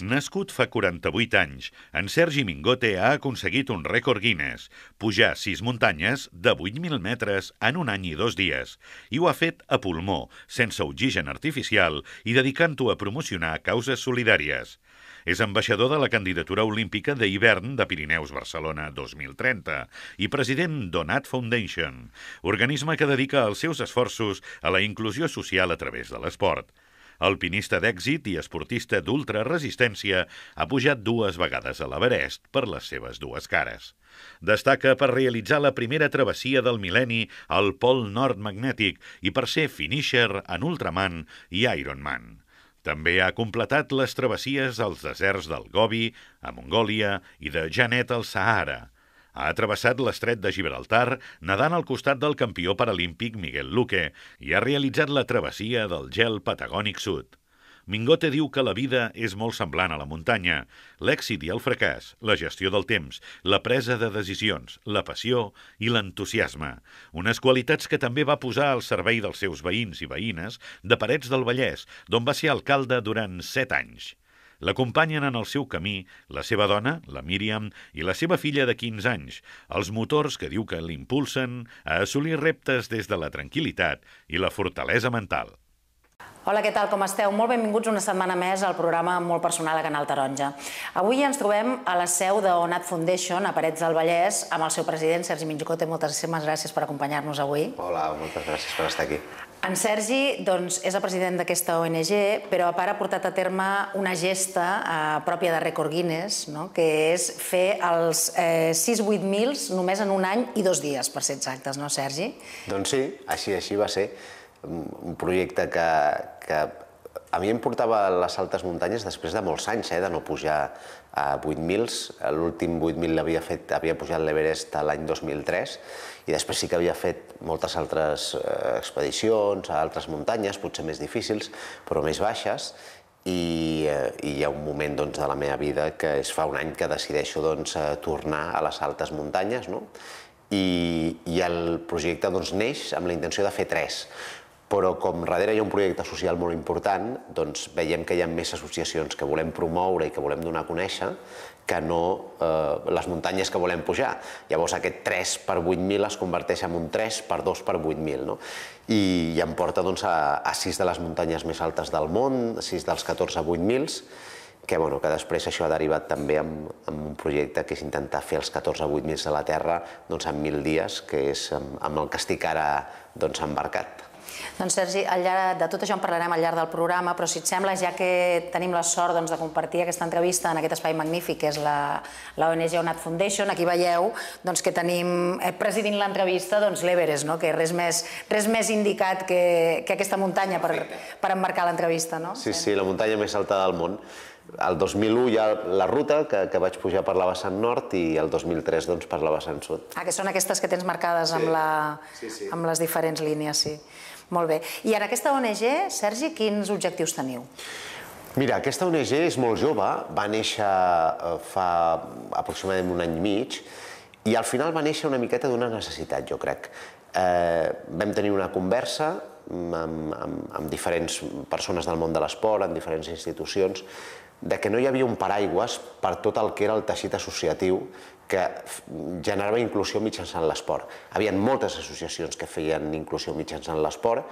Nascut fa 48 anys, en Sergi Mingote ha aconseguit un rècord Guinness, pujar 6 muntanyes de 8.000 metres en un any i 2 dies, i ho ha fet a pulmó, sense oxigen artificial i dedicant-ho a promocionar causes solidàries. És ambaixador de la candidatura olímpica d'hivern de Pirineus Barcelona 2030 i president d'Onat Foundation, organisme que dedica els seus esforços a la inclusió social a través de l'esport. Alpinista d'èxit i esportista d'ultraresistència, ha pujat 2 vegades a l'Everest per les seves 2 cares. Destaca per realitzar la primera travessia del mil·lenni al Pol Nord magnètic i per ser finisher en Ultraman i Ironman. També ha completat les travessies als deserts del Gobi, a Mongòlia i de Janet al Sàhara. Ha travessat l'estret de Gibraltar nedant al costat del campió paralímpic Miguel Luque i ha realitzat la travessia del gel patagònic sud. Mingote diu que la vida és molt semblant a la muntanya. L'èxit i el fracàs, la gestió del temps, la presa de decisions, la passió i l'entusiasme. Unes qualitats que també va posar al servei dels seus veïns i veïnes de Parets del Vallès, d'on va ser alcalde durant 7 anys. L'acompanyen en el seu camí la seva dona, la Míriam, i la seva filla de 15 anys, els motors que diu que l'impulsen a assolir reptes des de la tranquil·litat i la fortalesa mental. Hola, què tal, com esteu? Molt benvinguts una setmana més al programa molt personal a Canal Taronja. Avui ens trobem a la seu d'Onat Foundation, a Parets del Vallès, amb el seu president, Sergi Mingote. Moltíssimes gràcies per acompanyar-nos avui. Hola, moltes gràcies per estar aquí. En Sergi és el president d'aquesta ONG, però a part ha portat a terme una gesta pròpia de rècord Guinness, que és fer els 6-8 mils només en un any i 2 dies, per ser exactes, no, Sergi? Doncs sí, així va ser. Un projecte que a mi em portava a les altes muntanyes després de molts anys, de no pujar a 8.000. L'últim 8.000 havia pujat l'Everest l'any 2003 i després sí que havia fet moltes altres expedicions a altres muntanyes, potser més difícils, però més baixes. I hi ha un moment de la meva vida que es fa un any que decideixo tornar a les altes muntanyes, i el projecte neix amb la intenció de fer 3. Però com darrere hi ha un projecte social molt important, veiem que hi ha més associacions que volem promoure i que volem donar a conèixer que no les muntanyes que volem pujar. Llavors aquest 3 per 8.000 es converteix en un 3 per 2 per 8.000. I em porta a 6 de les muntanyes més altes del món, 6 dels 14 a 8.000, que després això ha derivat també en un projecte que és intentar fer els 14 a 8.000 de la Terra en 1.000 dies, que és amb el que estic ara embarcat. Doncs Sergi, de tot això en parlarem al llarg del programa, però si et sembla, ja que tenim la sort de compartir aquesta entrevista en aquest espai magnífic que és la ONG Onat Foundation, aquí veieu que tenim presidint l'entrevista l'Everest, que res més indicat que aquesta muntanya per emmarcar l'entrevista. Sí, la muntanya més alta del món. El 2001 hi ha la ruta que vaig pujar per la vessant nord i el 2003 per la vessant sud. Que són aquestes que tens marcades amb les diferents línies, sí. Molt bé. I en aquesta ONG, Sergi, quins objectius teniu? Mira, aquesta ONG és molt jove, va néixer fa aproximadament un any i mig i al final va néixer una miqueta d'una necessitat, jo crec. Vam tenir una conversa amb diferents persones del món de l'esport, en diferents institucions, de que no hi havia un paraigües per tot el que era el teixit associatiu que generava inclusió mitjançant l'esport. Hi havia moltes associacions que feien inclusió mitjançant l'esport,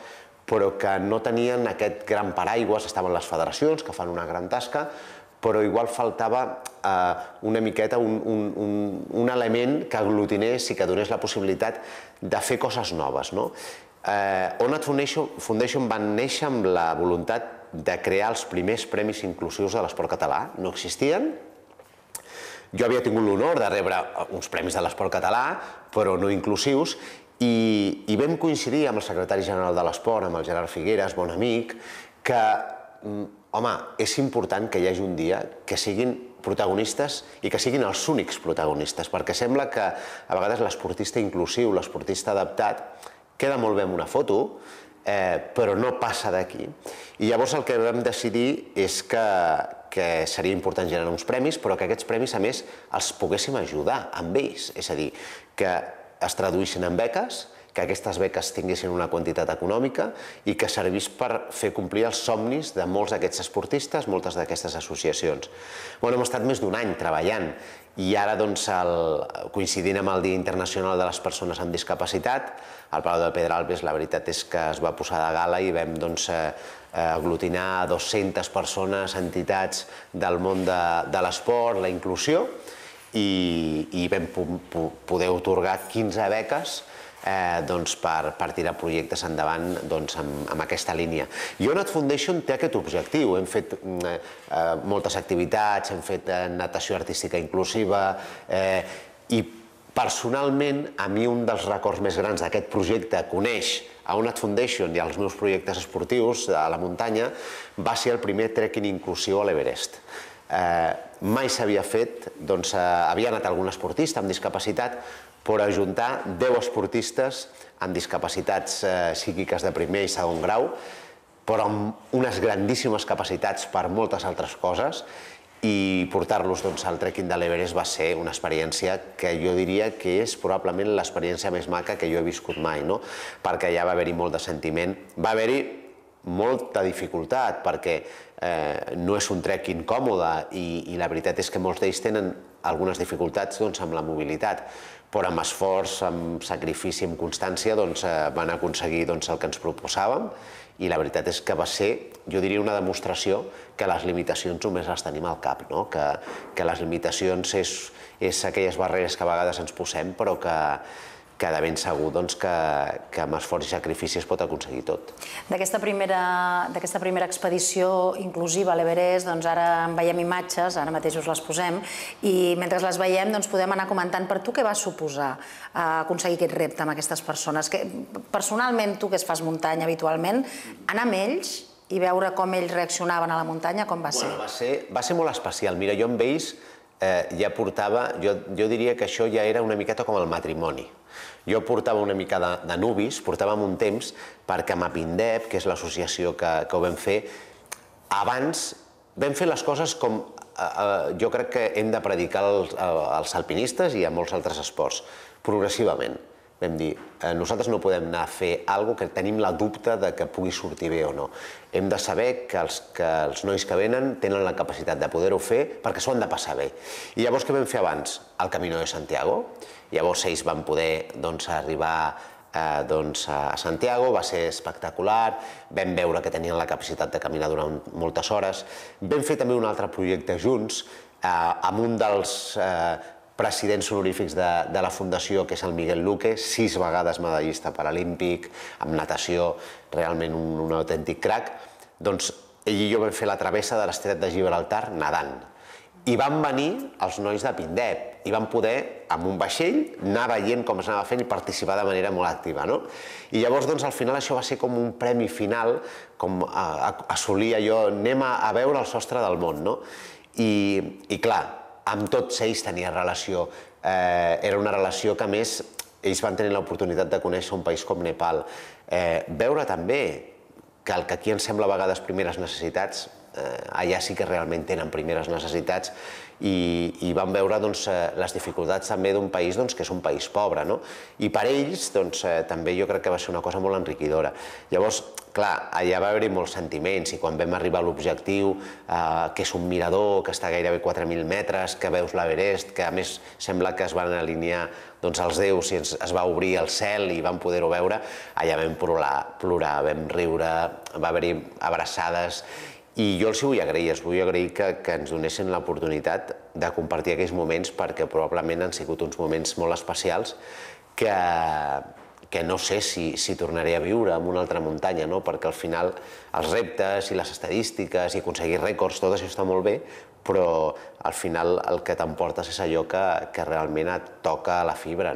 però que no tenien aquest gran paraigües. Estaven les federacions, que fan una gran tasca, però igual faltava una miqueta un element que aglutinés i que donés la possibilitat de fer coses noves. Onat Foundation va néixer amb la voluntat de crear els primers premis inclusius de l'esport català. No existien. Jo havia tingut l'honor de rebre uns premis de l'esport català, però no inclusius, i vam coincidir amb el secretari general de l'esport, amb el Gerard Figueres, bon amic, que, home, és important que hi hagi un dia que siguin protagonistes i que siguin els únics protagonistes, perquè sembla que a vegades l'esportista inclusiu, l'esportista adaptat, queda molt bé en una foto, però no passa d'aquí. I llavors el que vam decidir és que seria important generar uns premis, però que aquests premis, a més, els poguéssim ajudar amb ells. És a dir, que es traduïssin en beques, que aquestes beques tinguessin una quantitat econòmica i que servís per fer complir els somnis de molts d'aquests esportistes, moltes d'aquestes associacions. Hem estat més d'un any treballant i ara, coincidint amb el Dia Internacional de les Persones amb Discapacitat, al Palau de Pedralbes la veritat és que es va posar de gala i vam aglutinar 200 persones, entitats del món de l'esport, la inclusió, i vam poder atorgar 15 beques per tirar projectes endavant amb aquesta línia. Ionat Foundation té aquest objectiu. Hem fet moltes activitats, hem fet natació artística inclusiva i personalment a mi un dels records més grans d'aquest projecte, conèixer a Ionat Foundation i als meus projectes esportius a la muntanya, va ser el primer trekking inclusiu a l'Everest. Mai s'havia fet, havia anat algun esportista amb discapacitat, però ajuntar 10 esportistes amb discapacitats psíquiques de primer i segon grau, però amb unes grandíssimes capacitats per moltes altres coses, i portar-los al trekking de l'Everest va ser una experiència que jo diria que és probablement l'experiència més maca que jo he viscut mai, perquè allà va haver-hi molt de sentiment, va haver-hi molta dificultat, perquè no és un trekking còmode i la veritat és que molts d'ells tenen algunes dificultats amb la mobilitat, però amb esforç, amb sacrifici, amb constància van aconseguir el que ens proposàvem, i la veritat és que va ser, jo diria, una demostració que les limitacions només les tenim al cap, que les limitacions és aquelles barreres que a vegades ens posem, però que de ben segur que amb esforç i sacrifici es pot aconseguir tot. D'aquesta primera expedició inclusiva a l'Everest, ara en veiem imatges, ara mateix us les posem, i mentre les veiem podem anar comentant per tu què va suposar aconseguir aquest repte amb aquestes persones. Personalment, tu que fas muntanya habitualment, anar amb ells i veure com ells reaccionaven a la muntanya, com va ser? Va ser molt especial. Mira, jo amb ells ja portava, jo diria que això ja era una miqueta com el matrimoni. Jo portava una mica de nubis, portàvem un temps perquè amb Apindep, que és l'associació que ho vam fer, abans vam fer les coses com jo crec que hem de predicar als alpinistes i a molts altres esports, progressivament. Vam dir, nosaltres no podem anar a fer alguna cosa que tenim la dubte que pugui sortir bé o no. Hem de saber que els nois que venen tenen la capacitat de poder-ho fer perquè s'ho han de passar bé. I llavors què vam fer abans? El Camino de Santiago. Llavors ells van poder arribar a Santiago, va ser espectacular, vam veure que tenien la capacitat de caminar durant moltes hores. Vam fer també un altre projecte junts amb un dels presidents honorífics de la Fundació, que és el Miguel Luque, 6 vegades medallista paralímpic, amb natació, realment un autèntic crac. Doncs ell i jo vam fer la travessa de l'Estret de Gibraltar nedant. I van venir els nois de Pindep i van poder, amb un vaixell, anar veient com es anava fent i participar de manera molt activa. I llavors, al final, això va ser com un premi final, com assolir allò, anem a veure el sostre del món. I clar, amb tots ells tenia relació. Era una relació que, a més, ells van tenir l'oportunitat de conèixer un país com Nepal. Veure també que el que aquí ens sembla a vegades primeres necessitats, allà sí que realment tenen primeres necessitats i van veure les dificultats també d'un país que és un país pobre. I per ells també jo crec que va ser una cosa molt enriquidora. Llavors, clar, allà va haver-hi molts sentiments i quan vam arribar a l'objectiu, que és un mirador, que està gairebé 4.000 metres, que veus l'Everest, que a més sembla que es van alinear els déus i es va obrir el cel i vam poder-ho veure, allà vam plorar, vam riure, va haver-hi abraçades. I jo els vull agrair que ens donessin l'oportunitat de compartir aquells moments perquè probablement han sigut uns moments molt especials que no sé si tornaré a viure en una altra muntanya, perquè al final els reptes i les estadístiques i aconseguir rècords, tot això està molt bé, però al final el que t'emportes és allò que realment et toca a la fibra.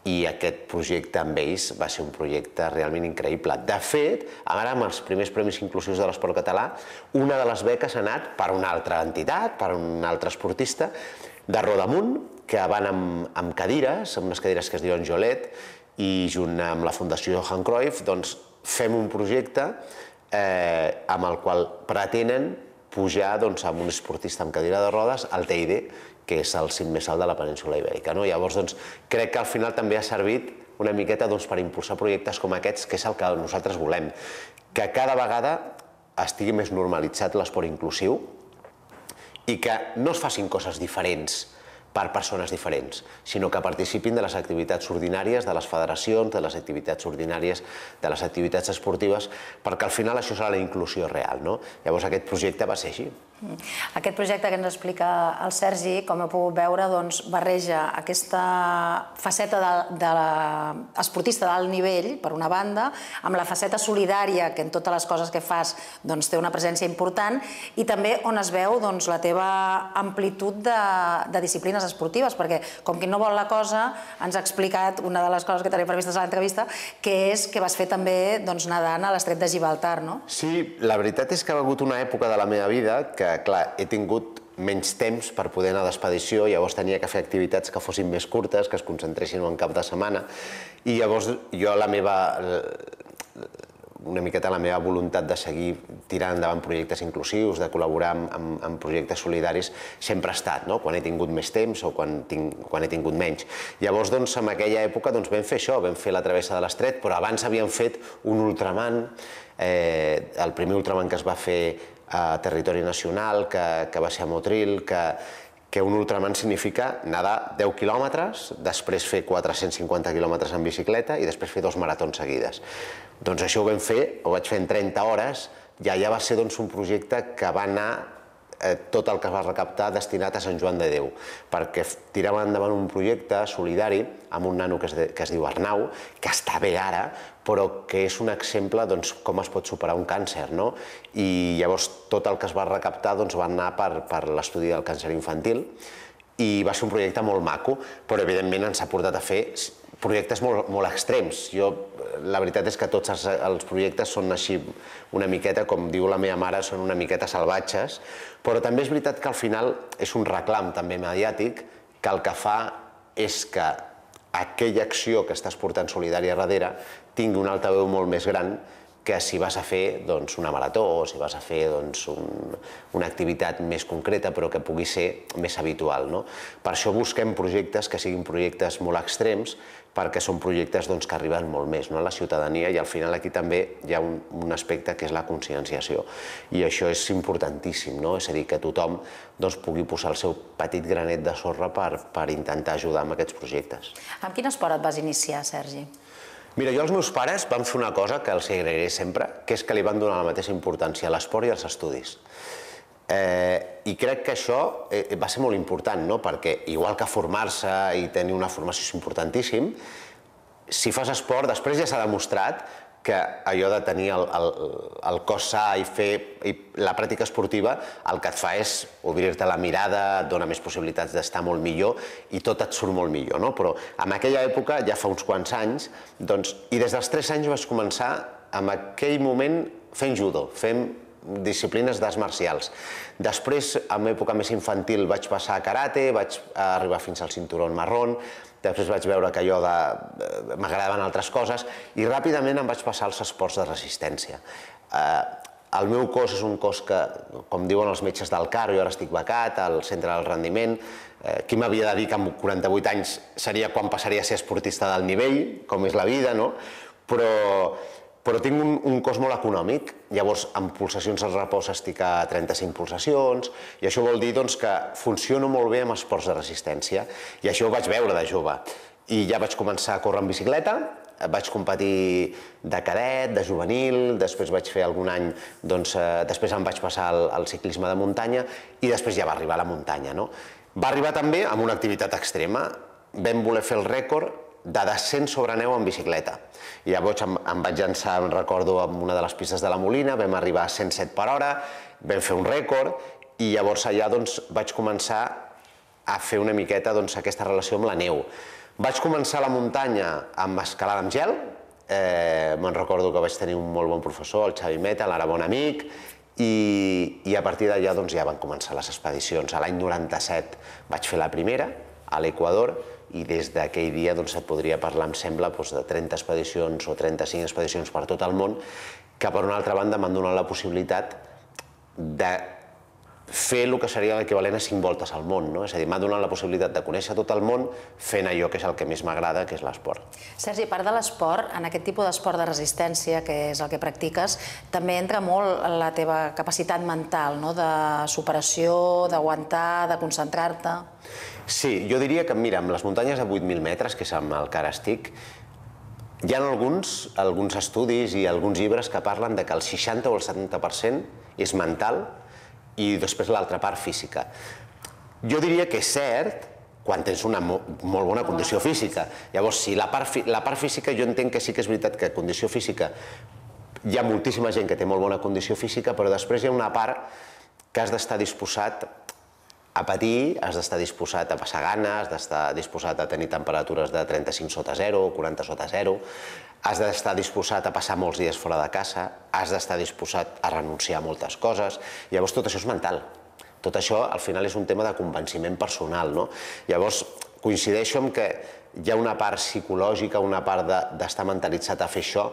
I aquest projecte amb ells va ser un projecte realment increïble. De fet, ara amb els primers premis inclusius de l'esport català, una de les beques ha anat per una altra entitat, per un altre esportista, de Rodamunt, que van amb cadires, amb unes cadires que es diuen Jolet, i junt amb la Fundació Johan Cruyff fem un projecte amb el qual pretenen pujar amb un esportista amb cadira de rodes al Teide, que és el cim més alt de la península Ibèrica. Llavors, crec que al final també ha servit una miqueta per impulsar projectes com aquests, que és el que nosaltres volem. Que cada vegada estigui més normalitzat l'esport inclusiu i que no es facin coses diferents per persones diferents, sinó que participin de les activitats ordinàries de les federacions, de les activitats ordinàries de les activitats esportives, perquè al final això serà la inclusió real. Llavors aquest projecte va ser així. Aquest projecte que ens explica el Sergi, com heu pogut veure, barreja aquesta faceta de l'esportista d'alt nivell, per una banda, amb la faceta solidària, que en totes les coses que fas té una presència important, i també on es veu la teva amplitud de disciplines esportives, perquè com qui no vol la cosa, ens ha explicat una de les coses que tenim previstes a l'entrevista, que és que vas fer també nedant a l'estret de Gibraltar, no? Sí, la veritat és que ha hagut una època de la meva vida que, clar, he tingut menys temps per poder anar d'expedició, llavors tenia que fer activitats que fossin més curtes, que es concentressin en cap de setmana, i llavors jo una miqueta la meva voluntat de seguir tirant endavant projectes inclusius, de col·laborar en projectes solidaris, sempre ha estat, quan he tingut més temps o quan he tingut menys. Llavors, en aquella època vam fer això, vam fer la travessa de l'estret, però abans havíem fet un ultraman, el primer ultraman que es va fer a territori nacional, que va ser a Motril, que un ultraman significa nedar 10 quilòmetres, després fer 450 quilòmetres en bicicleta i després fer 2 maratons seguides. Doncs això ho vam fer, ho vaig fer en 30 hores, i allà va ser un projecte que va anar tot el que es va recaptar destinat a Sant Joan de Déu, perquè tiràvem endavant un projecte solidari amb un nano que es diu Arnau, que està bé ara, però que és un exemple com es pot superar un càncer. I llavors tot el que es va recaptar va anar per l'estudi del càncer infantil i va ser un projecte molt maco, però evidentment ens ha portat a fer projectes molt extrems. La veritat és que tots els projectes són així una miqueta, com diu la meva mare, són una miqueta salvatges, però també és veritat que al final és un reclam també mediàtic que el que fa és que aquella acció que estàs portant solidària darrere tingui un altaveu molt més gran que si vas a fer una marató o si vas a fer una activitat més concreta però que pugui ser més habitual. Per això busquem projectes que siguin projectes molt extrems, perquè són projectes que arriben molt més a la ciutadania, i al final aquí també hi ha un aspecte que és la conscienciació, i això és importantíssim, és a dir, que tothom pugui posar el seu petit granet de sorra per intentar ajudar amb aquests projectes. Amb quin esport et vas iniciar, Sergi? Mira, jo els meus pares van fer una cosa que els agrairé sempre, que és que li van donar la mateixa importància a l'esport i als estudis. I crec que això va ser molt important, perquè igual que formar-se i tenir una formació és importantíssim, si fas esport, després ja s'ha demostrat que allò de tenir el cos sa i fer la pràctica esportiva el que et fa és obrir-te la mirada, et dona més possibilitats d'estar molt millor i tot et surt molt millor. Però en aquella època, ja fa uns quants anys, i des dels 3 anys vaig començar en aquell moment fent judo, fent disciplines d'arts marcials. Després, en època més infantil, vaig passar a karate, vaig arribar fins al cinturó marrón, després vaig veure que allò m'agradaven altres coses i ràpidament em vaig passar als esports de resistència. El meu cos és un cos que, com diuen els metges del CAR, jo ara estic becat al centre del rendiment, qui m'havia de dir que amb 48 anys seria quan passaria a ser esportista d'alt nivell, com és la vida, però tinc un cos molt econòmic, llavors amb pulsacions al repòs estic a 35 pulsacions, i això vol dir que funciono molt bé amb esports de resistència, i això ho vaig veure de jove. I ja vaig començar a córrer en bicicleta, vaig competir de cadet, de juvenil, després vaig fer algun any, després em vaig passar al ciclisme de muntanya, i després ja va arribar a la muntanya. Va arribar també amb una activitat extrema, vam voler fer el rècord de descens sobre neu en bicicleta. I llavors em vaig llançar, em recordo, en una de les pistes de la Molina, vam arribar a 107 per hora, vam fer un rècord, i llavors allà vaig començar a fer una miqueta aquesta relació amb la neu. Vaig començar a la muntanya amb escalada amb gel, me'n recordo que vaig tenir un molt bon professor, el Xavi Meta, l'ara bon amic, i a partir d'allà ja van començar les expedicions. A l'any 97 vaig fer la primera, a l'Equador, i des d'aquell dia et podria parlar, em sembla, de 30 expedicions o 35 expedicions per tot el món, que per una altra banda m'han donat la possibilitat de fer el que seria l'equivalent a 5 voltes al món, no? És a dir, m'ha donat la possibilitat de conèixer tot el món fent allò que és el que més m'agrada, que és l'esport. Sergi, a part de l'esport, en aquest tipus d'esport de resistència, que és el que practiques, també entra molt la teva capacitat mental, de superació, d'aguantar, de concentrar-te. Sí, jo diria que, mira, amb les muntanyes de 8.000 metres, que és amb el que ara estic, hi ha alguns estudis i alguns llibres que parlen de que el 60 o el 70% és mental i després l'altra part física. Jo diria que és cert quan tens una molt bona condició física. Llavors, si la part física, jo entenc que sí que és veritat que condició física, hi ha moltíssima gent que té molt bona condició física, però després hi ha una part que has d'estar disposat a patir, has d'estar disposat a passar gana, has d'estar disposat a tenir temperatures de 35 sota 0, 40 sota 0, has d'estar disposat a passar molts dies fora de casa, has d'estar disposat a renunciar a moltes coses. Llavors, tot això és mental. Tot això, al final, és un tema de convenciment personal, no? Llavors, coincideixo amb que hi ha una part psicològica, una part d'estar mentalitzat a fer això,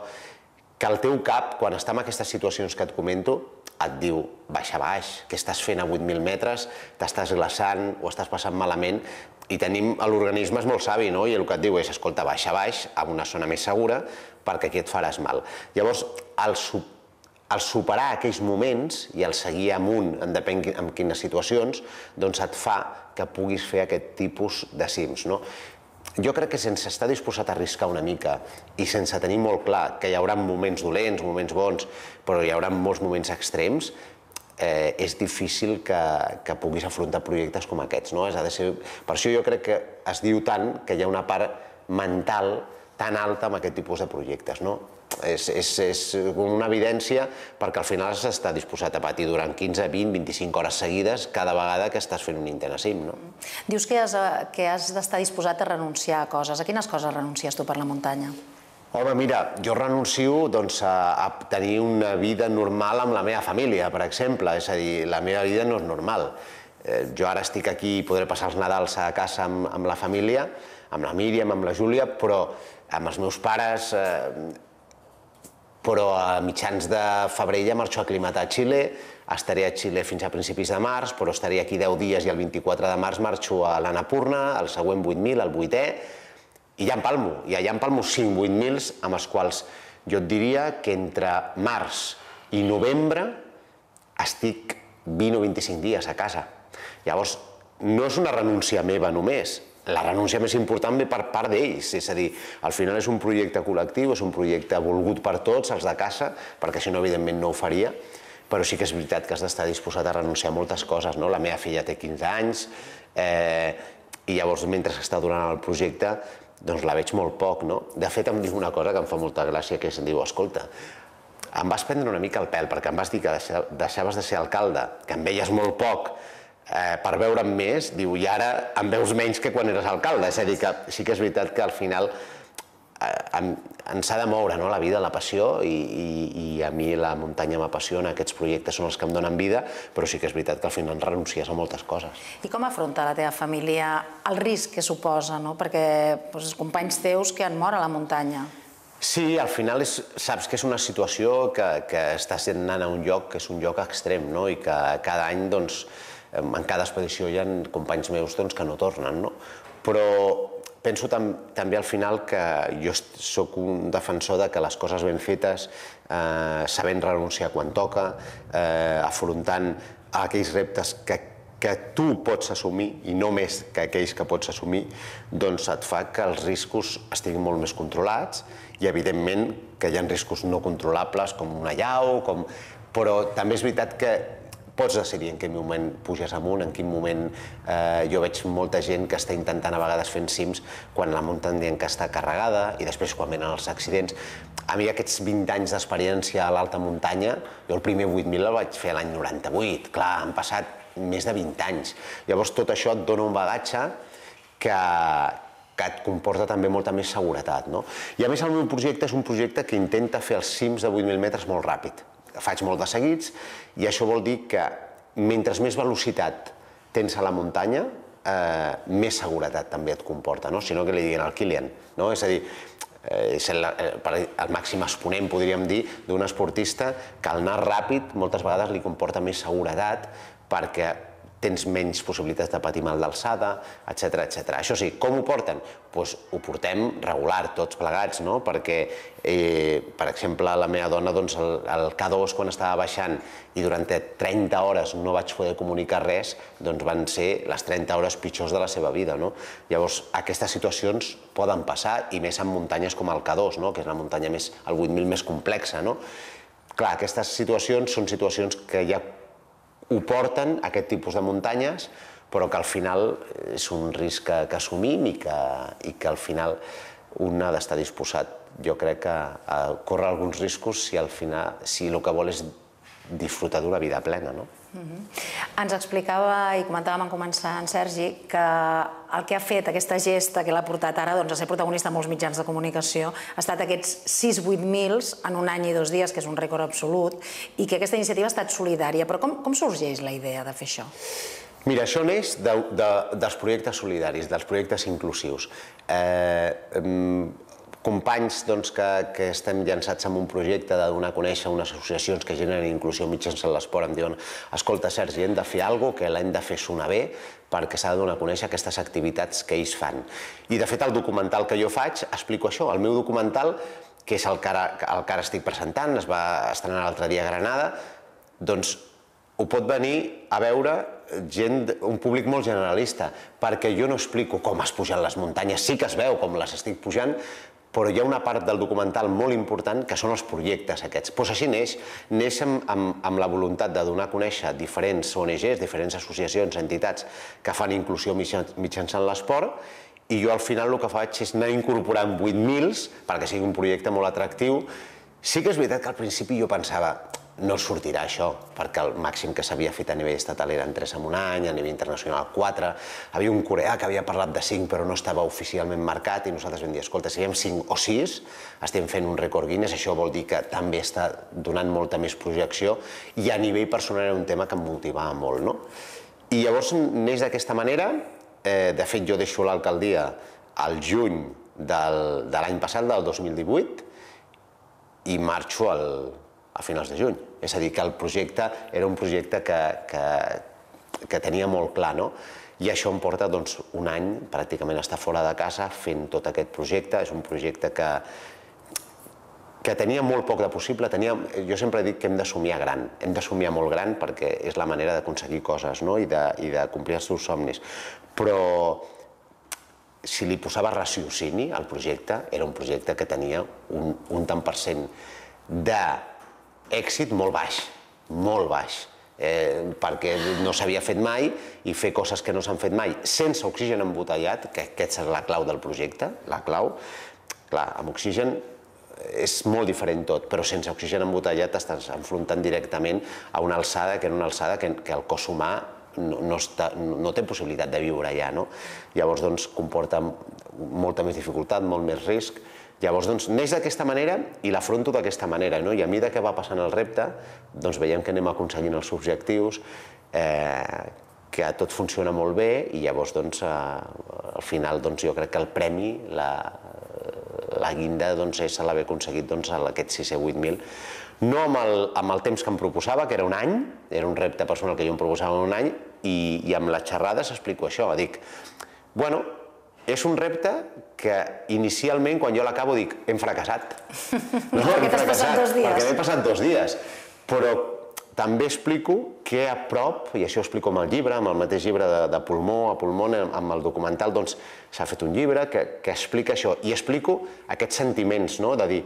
que el teu cap, quan està en aquestes situacions que et comento, et diu, baixa baix, què estàs fent a 8.000 metres, t'estàs glaçant, ho estàs passant malament, i l'organisme és molt savi, no? I el que et diu és, escolta, baixa baix, a una zona més segura, perquè aquí et faràs mal. Llavors, el superar aquells moments i el seguir amunt, depèn en quines situacions, doncs et fa que puguis fer aquest tipus de cims, no? Jo crec que sense estar disposat a arriscar una mica i sense tenir molt clar que hi haurà moments dolents, moments bons, però hi haurà molts moments extrems, és difícil que puguis afrontar projectes com aquests. Per això jo crec que es diu tant que hi ha una part mental tan alta amb aquest tipus de projectes. És una evidència perquè al final has d'estar disposat a patir durant 15, 20, 25 hores seguides cada vegada que estàs fent un intent a cim. Dius que has d'estar disposat a renunciar a coses. A quines coses renuncies tu per la muntanya? Home, mira, jo renuncio a tenir una vida normal amb la meva família, per exemple. És a dir, la meva vida no és normal. Jo ara estic aquí i podré passar els Nadals a casa amb la família, amb la Míriam, amb la Júlia, però amb els meus pares, però a mitjans de febrer ja marxo a aclimatar a Xile, estaré a Xile fins a principis de març, però estaré aquí 10 dies i el 24 de març marxo a l'Annapurna, el següent 8.000, el 8è, i ja empalmo 5 8.000 amb els quals jo et diria que entre març i novembre estic 20 o 25 dies a casa. Llavors, no és una renúncia meva només, la renúncia més important ve per part d'ells, és a dir, al final és un projecte col·lectiu, és un projecte volgut per tots, els de casa, perquè si no, evidentment, no ho faria, però sí que és veritat que has d'estar disposat a renunciar a moltes coses. La meva filla té 15 anys i llavors, mentre està durant el projecte, doncs la veig molt poc. De fet, em diu una cosa que em fa molta gràcia, que és, em diu, escolta, em vas prendre una mica el pèl, perquè em vas dir que deixaves de ser alcalde, que em veies molt poc, per veure'm més, diu, i ara em veus menys que quan eres alcalde. És a dir, que sí que és veritat que al final ens ha de moure la vida, la passió, i a mi la muntanya m'apassiona, aquests projectes són els que em donen vida, però sí que és veritat que al final renuncies a moltes coses. I com afronta la teva família el risc que suposa, perquè els companys teus que han mort a la muntanya? Sí, al final saps que és una situació que estàs anant a un lloc que és un lloc extrem, i que cada any, en cada expedició hi ha companys meus que no tornen, però penso també al final que jo soc un defensor de que les coses ben fetes, sabent renunciar quan toca, afrontant aquells reptes que tu pots assumir i no més que aquells que pots assumir, doncs et fa que els riscos estiguin molt més controlats i, evidentment, que hi ha riscos no controlables com una allau, però també és veritat que pots decidir en quin moment puges amunt, en quin moment jo veig molta gent que està intentant a vegades fent cims quan la muntanya que està carregada i després quan venen els accidents. A mi aquests 20 anys d'experiència a l'alta muntanya, jo el primer 8.000 el vaig fer l'any 98, clar, han passat més de 20 anys. Llavors tot això et dona un bagatge que et comporta també molta més seguretat. I a més el meu projecte és un projecte que intenta fer els cims de 8.000 metres molt ràpid. Faig molt de seguits i això vol dir que mentre més velocitat tens a la muntanya, més seguretat també et comporta, sinó que li diguin al Kilian. És a dir, és el màxim exponent, podríem dir, d'un esportista que al anar ràpid moltes vegades li comporta més seguretat perquè tens menys possibilitats de patir mal d'alçada, etc. Això sí, com ho porten? Doncs ho portem regular, tots plegats, no? Perquè, per exemple, la meva dona, el K2, quan estava baixant i durant 30 hores no vaig poder comunicar res, doncs van ser les 30 hores pitjors de la seva vida, no? Llavors, aquestes situacions poden passar, i més en muntanyes com el K2, que és la muntanya el 8.000 més complexa, no? Clar, aquestes situacions són situacions que ja ho porten, aquest tipus de muntanyes, però que al final és un risc que assumim i que al final un ha d'estar disposat, jo crec, a córrer alguns riscos si el que vol és disfrutar d'una vida plena, no? Ens explicava i comentàvem en començar en Sergi que el que ha fet aquesta gesta que l'ha portat ara a ser protagonista en molts mitjans de comunicació ha estat aquests 6-8 mils en un any i 2 dies, que és un rècord absolut, i que aquesta iniciativa ha estat solidària. Però com sorgeix la idea de fer això? Mira, això neix dels projectes solidaris, dels projectes inclusius. Companys que estem llançats en un projecte de donar a conèixer unes associacions que generen inclusió mitjançant l'esport em diuen: escolta, Sergi, hem de fer alguna cosa que l'hem de fer sonar bé perquè s'ha de donar a conèixer aquestes activitats que ells fan. I de fet el documental que jo faig explico això. El meu documental, que és el que ara estic presentant, es va estrenar l'altre dia a Granada, doncs ho pot venir a veure gent, un públic molt generalista, perquè jo no explico com es pugen les muntanyes, sí que es veu com les estic pujant, però hi ha una part del documental molt important que són els projectes aquests. Doncs així neix amb la voluntat de donar a conèixer diferents ONGs, diferents associacions, entitats que fan inclusió mitjançant l'esport, i jo al final el que faig és anar incorporant 8.000 perquè sigui un projecte molt atractiu. Sí que és veritat que al principi jo pensava: no sortirà això, perquè el màxim que s'havia fet a nivell estatal eren 3 en un any, a nivell internacional 4, havia un coreà que havia parlat de 5 però no estava oficialment marcat, i nosaltres vam dir: escolta, si hi ha 5 o 6, estem fent un rècord Guinness, això vol dir que també està donant molta més projecció, i a nivell personal era un tema que em motivava molt, no? I llavors neix d'aquesta manera. De fet, jo deixo l'alcaldia al juny de l'any passat, del 2018, i marxo a finals de juny. És a dir, que el projecte era un projecte que tenia molt clar, no? I això em porta un any pràcticament a estar fora de casa fent tot aquest projecte. És un projecte que tenia molt poc de possible. Jo sempre dic que hem de somiar gran, hem de somiar molt gran, perquè és la manera d'aconseguir coses i de complir els teus somnis. Però si li posava raciocini al projecte, era un projecte que tenia un tant per cent d'èxit molt baix, perquè no s'havia fet mai, i fer coses que no s'han fet mai sense oxigen embotellat, que aquesta és la clau del projecte, la clau. Clar, amb oxigen és molt diferent tot, però sense oxigen embotellat t'estàs enfrontant directament a una alçada que el cos humà no té possibilitat de viure allà, no? Llavors comporta molta més dificultat, molt més risc. Llavors neix d'aquesta manera i l'afronto d'aquesta manera, i a mesura que va passant el repte veiem que anem aconseguint els objectius, que tot funciona molt bé, i llavors al final jo crec que el premi, la guinda, és l'haver aconseguit aquests 6 o 8.000, no amb el temps que em proposava, que era un any, era un repte personal que jo em proposava un any, i amb les xerrades explico això, dic, bueno, és un repte que inicialment, quan jo l'acabo, dic, hem fracassat. Perquè t'has passat 2 dies. Perquè m'he passat 2 dies. Però també explico que a prop, i això ho explico amb el llibre, amb el mateix llibre de Pulmó a Pulmó, amb el documental, s'ha fet un llibre que explica això. I explico aquests sentiments, de dir,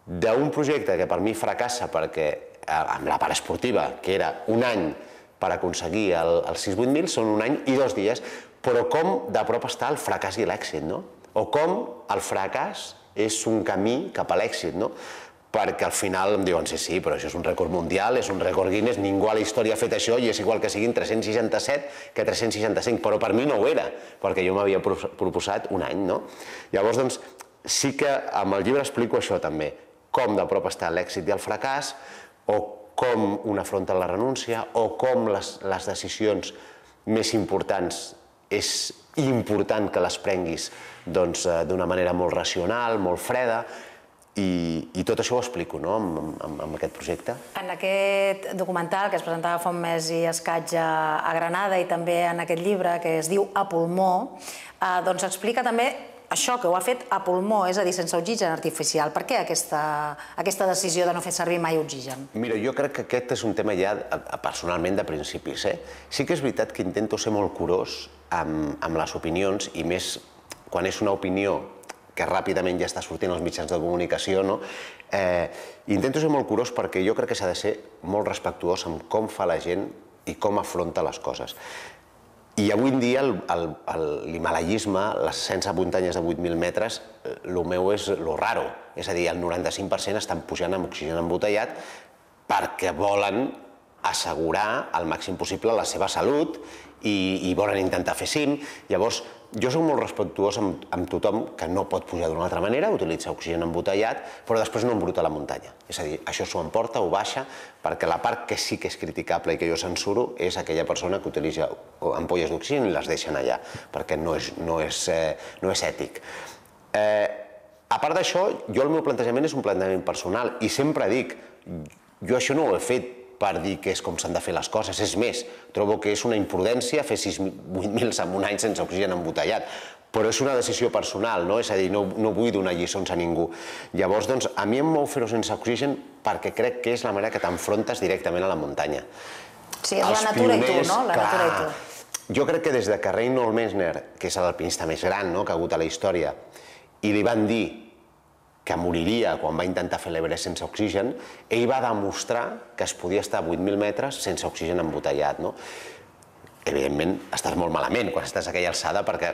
d'un projecte que per mi fracassa perquè amb la part esportiva, que era un any per aconseguir els 6-8.000, són un any i 2 dies, però com de prop està el fracàs i l'èxit, no? O com el fracàs és un camí cap a l'èxit, no? Perquè al final em diuen, sí, però això és un rècord mundial, és un rècord Guinness, ningú a la història ha fet això, i és igual que siguin 367 que 365, però per mi no ho era, perquè jo m'havia proposat un any, no? Llavors, sí que amb el llibre explico això també, com de prop està l'èxit i el fracàs, o com un afronta la renúncia, o com les decisions més importants és important que les prenguis d'una manera molt racional, molt freda, I tot això ho explico amb aquest projecte. En aquest documental que es presentava fa un mes i escaig a Granada i també en aquest llibre que es diu A pulmó, doncs explica també això que ho ha fet a pulmó, és a dir, sense oxigen artificial. Per què aquesta decisió de no fer servir mai oxigen? Mira, jo crec que aquest és un tema ja personalment de principis. Sí que és veritat que intento ser molt curós amb les opinions i més quan és una opinió que ràpidament ja està sortint als mitjans de comunicació, intento ser molt curós perquè jo crec que s'ha de ser molt respectuós amb com fa la gent i com afronta les coses. I avui en dia l'himalayisme, les 100 muntanyes de 8.000 metres, el meu és lo raro. És a dir, el 95% estan pujant amb oxigen embotellat perquè volen assegurar al màxim possible la seva salut i volen intentar fer cim. Llavors, jo soc molt respectuós amb tothom que no pot pujar d'una altra manera, utilitza oxigen embotellat, però després no embruta la muntanya. És a dir, això s'ho emporta, ho baixa, perquè la part que sí que és criticable i que jo censuro és aquella persona que utilitza ampolles d'oxigen i les deixen allà, perquè no és ètic. A part d'això, jo el meu plantejament és un plantejament personal i sempre dic, jo això no ho he fet per dir que és com s'han de fer les coses. És més, trobo que és una imprudència fer 8.000 en un any sense oxigen embotellat. Però és una decisió personal, és a dir, no vull donar lliçons a ningú. Llavors, doncs, a mi em mou fer-ho sense oxigen perquè crec que és la manera que t'enfrontes directament a la muntanya. Sí, és la natura i tu, no? La natura i tu. Jo crec que des de que Reinhold Messner, que és l'alpinista més gran que ha hagut a la història, i li van dir que moriria quan va intentar fer l'Everest sense oxigen, ell va demostrar que es podia estar a 8.000 metres sense oxigen embotellat. Evidentment, estàs molt malament quan estàs a aquella alçada perquè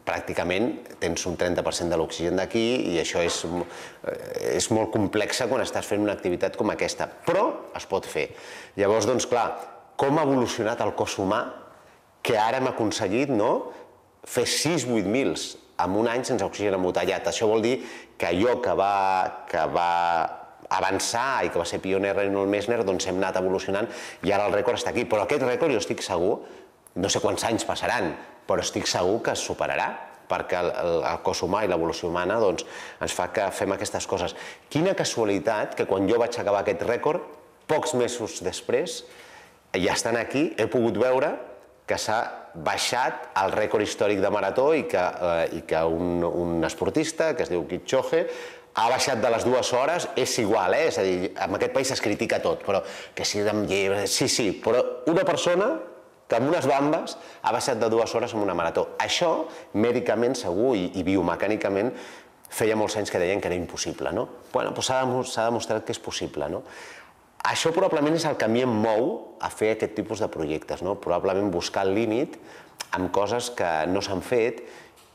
pràcticament tens un 30% de l'oxigen d'aquí i això és molt complexa quan estàs fent una activitat com aquesta, però es pot fer. Llavors, doncs clar, com ha evolucionat el cos humà que ara hem aconseguit fer 6-8.000 en un any sense oxigen embotellat. Això vol dir que allò que va avançar i que va ser pioner Reinhold Messner, doncs hem anat evolucionant i ara el rècord està aquí. Però aquest rècord jo estic segur, no sé quants anys passaran, però estic segur que es superarà, perquè el cos humà i l'evolució humana ens fa que fem aquestes coses. Quina casualitat que quan jo vaig acabar aquest rècord, pocs mesos després, ja estan aquí, he pogut veure que s'ha baixat el rècord històric de marató i que un esportista, que es diu Kipchoge, ha baixat de les 2 hores, és igual, és a dir, en aquest país es critica tot, però que si amb llibres... Sí, però una persona que amb unes bambes ha baixat de 2 hores en una marató. Això, mèdicament segur i biomecànicament, feia molts anys que deien que era impossible, no? Bueno, doncs s'ha demostrat que és possible, no? Això probablement és el que a mi em mou a fer aquest tipus de projectes, probablement buscar el límit amb coses que no s'han fet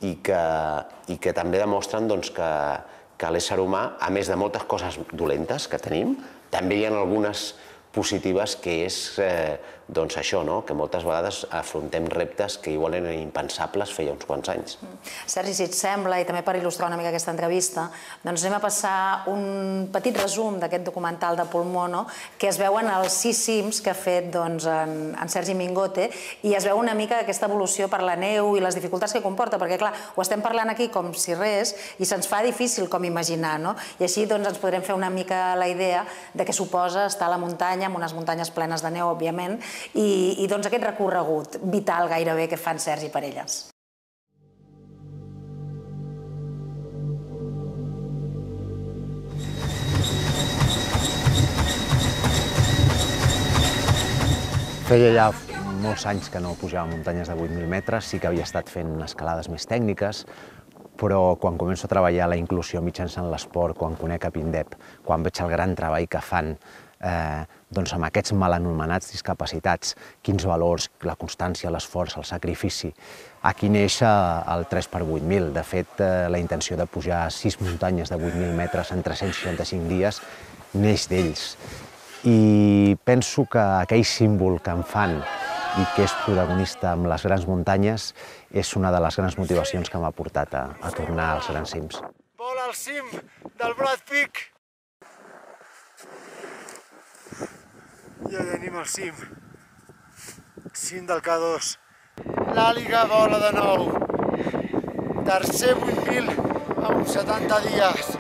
i que també demostren que l'ésser humà, a més de moltes coses dolentes que tenim, també hi ha algunes positives que és això, que moltes vegades afrontem reptes que igual eren impensables feia uns quants anys. Sergi, si et sembla, i també per il·lustrar una mica aquesta entrevista, doncs anem a passar un petit resum d'aquest documental de pulmó, que es veuen els 6 cims que ha fet en Sergi Mingote i es veu una mica aquesta evolució per la neu i les dificultats que comporta, perquè clar, ho estem parlant aquí com si res i se'ns fa difícil com imaginar, i així ens podrem fer una mica la idea de què suposa estar a la muntanya, amb unes muntanyes plenes de neu, òbviament, i aquest recorregut vital gairebé que fan Sergi per elles. Feia ja molts anys que no pujava muntanyes de 8.000 metres, sí que havia estat fent escalades més tècniques, però quan començo a treballar la inclusió mitjançant l'esport, quan conec a Pindep, quan veig el gran treball que fan amb aquests mal anomenats discapacitats, quins valors, la constància, l'esforç, el sacrifici. Aquí neix el 3x8.000. De fet, la intenció de pujar 6 muntanyes de 8.000 metres en 365 dies neix d'ells. I penso que aquell símbol que em fan i que és protagonista amb les grans muntanyes és una de les grans motivacions que m'ha portat a tornar als grans cims. Vol al cim del Brad Peak! Ja tenim el cim. Cim del K2. L'àliga vola de nou. Tercer 8.000 en 70 dies.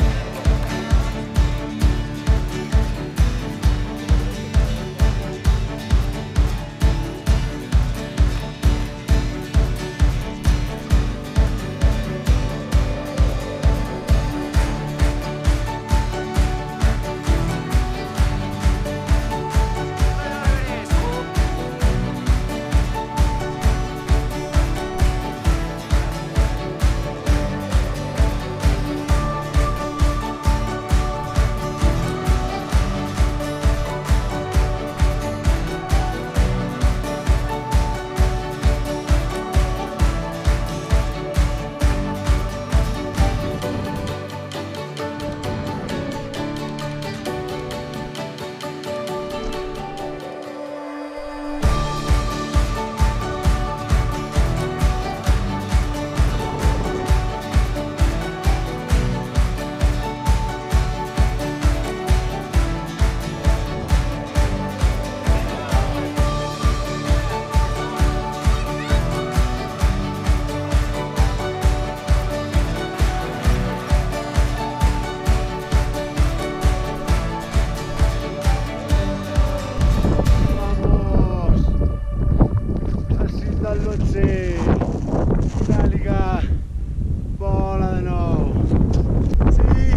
12. Finàliga. Vola de nou. Sí,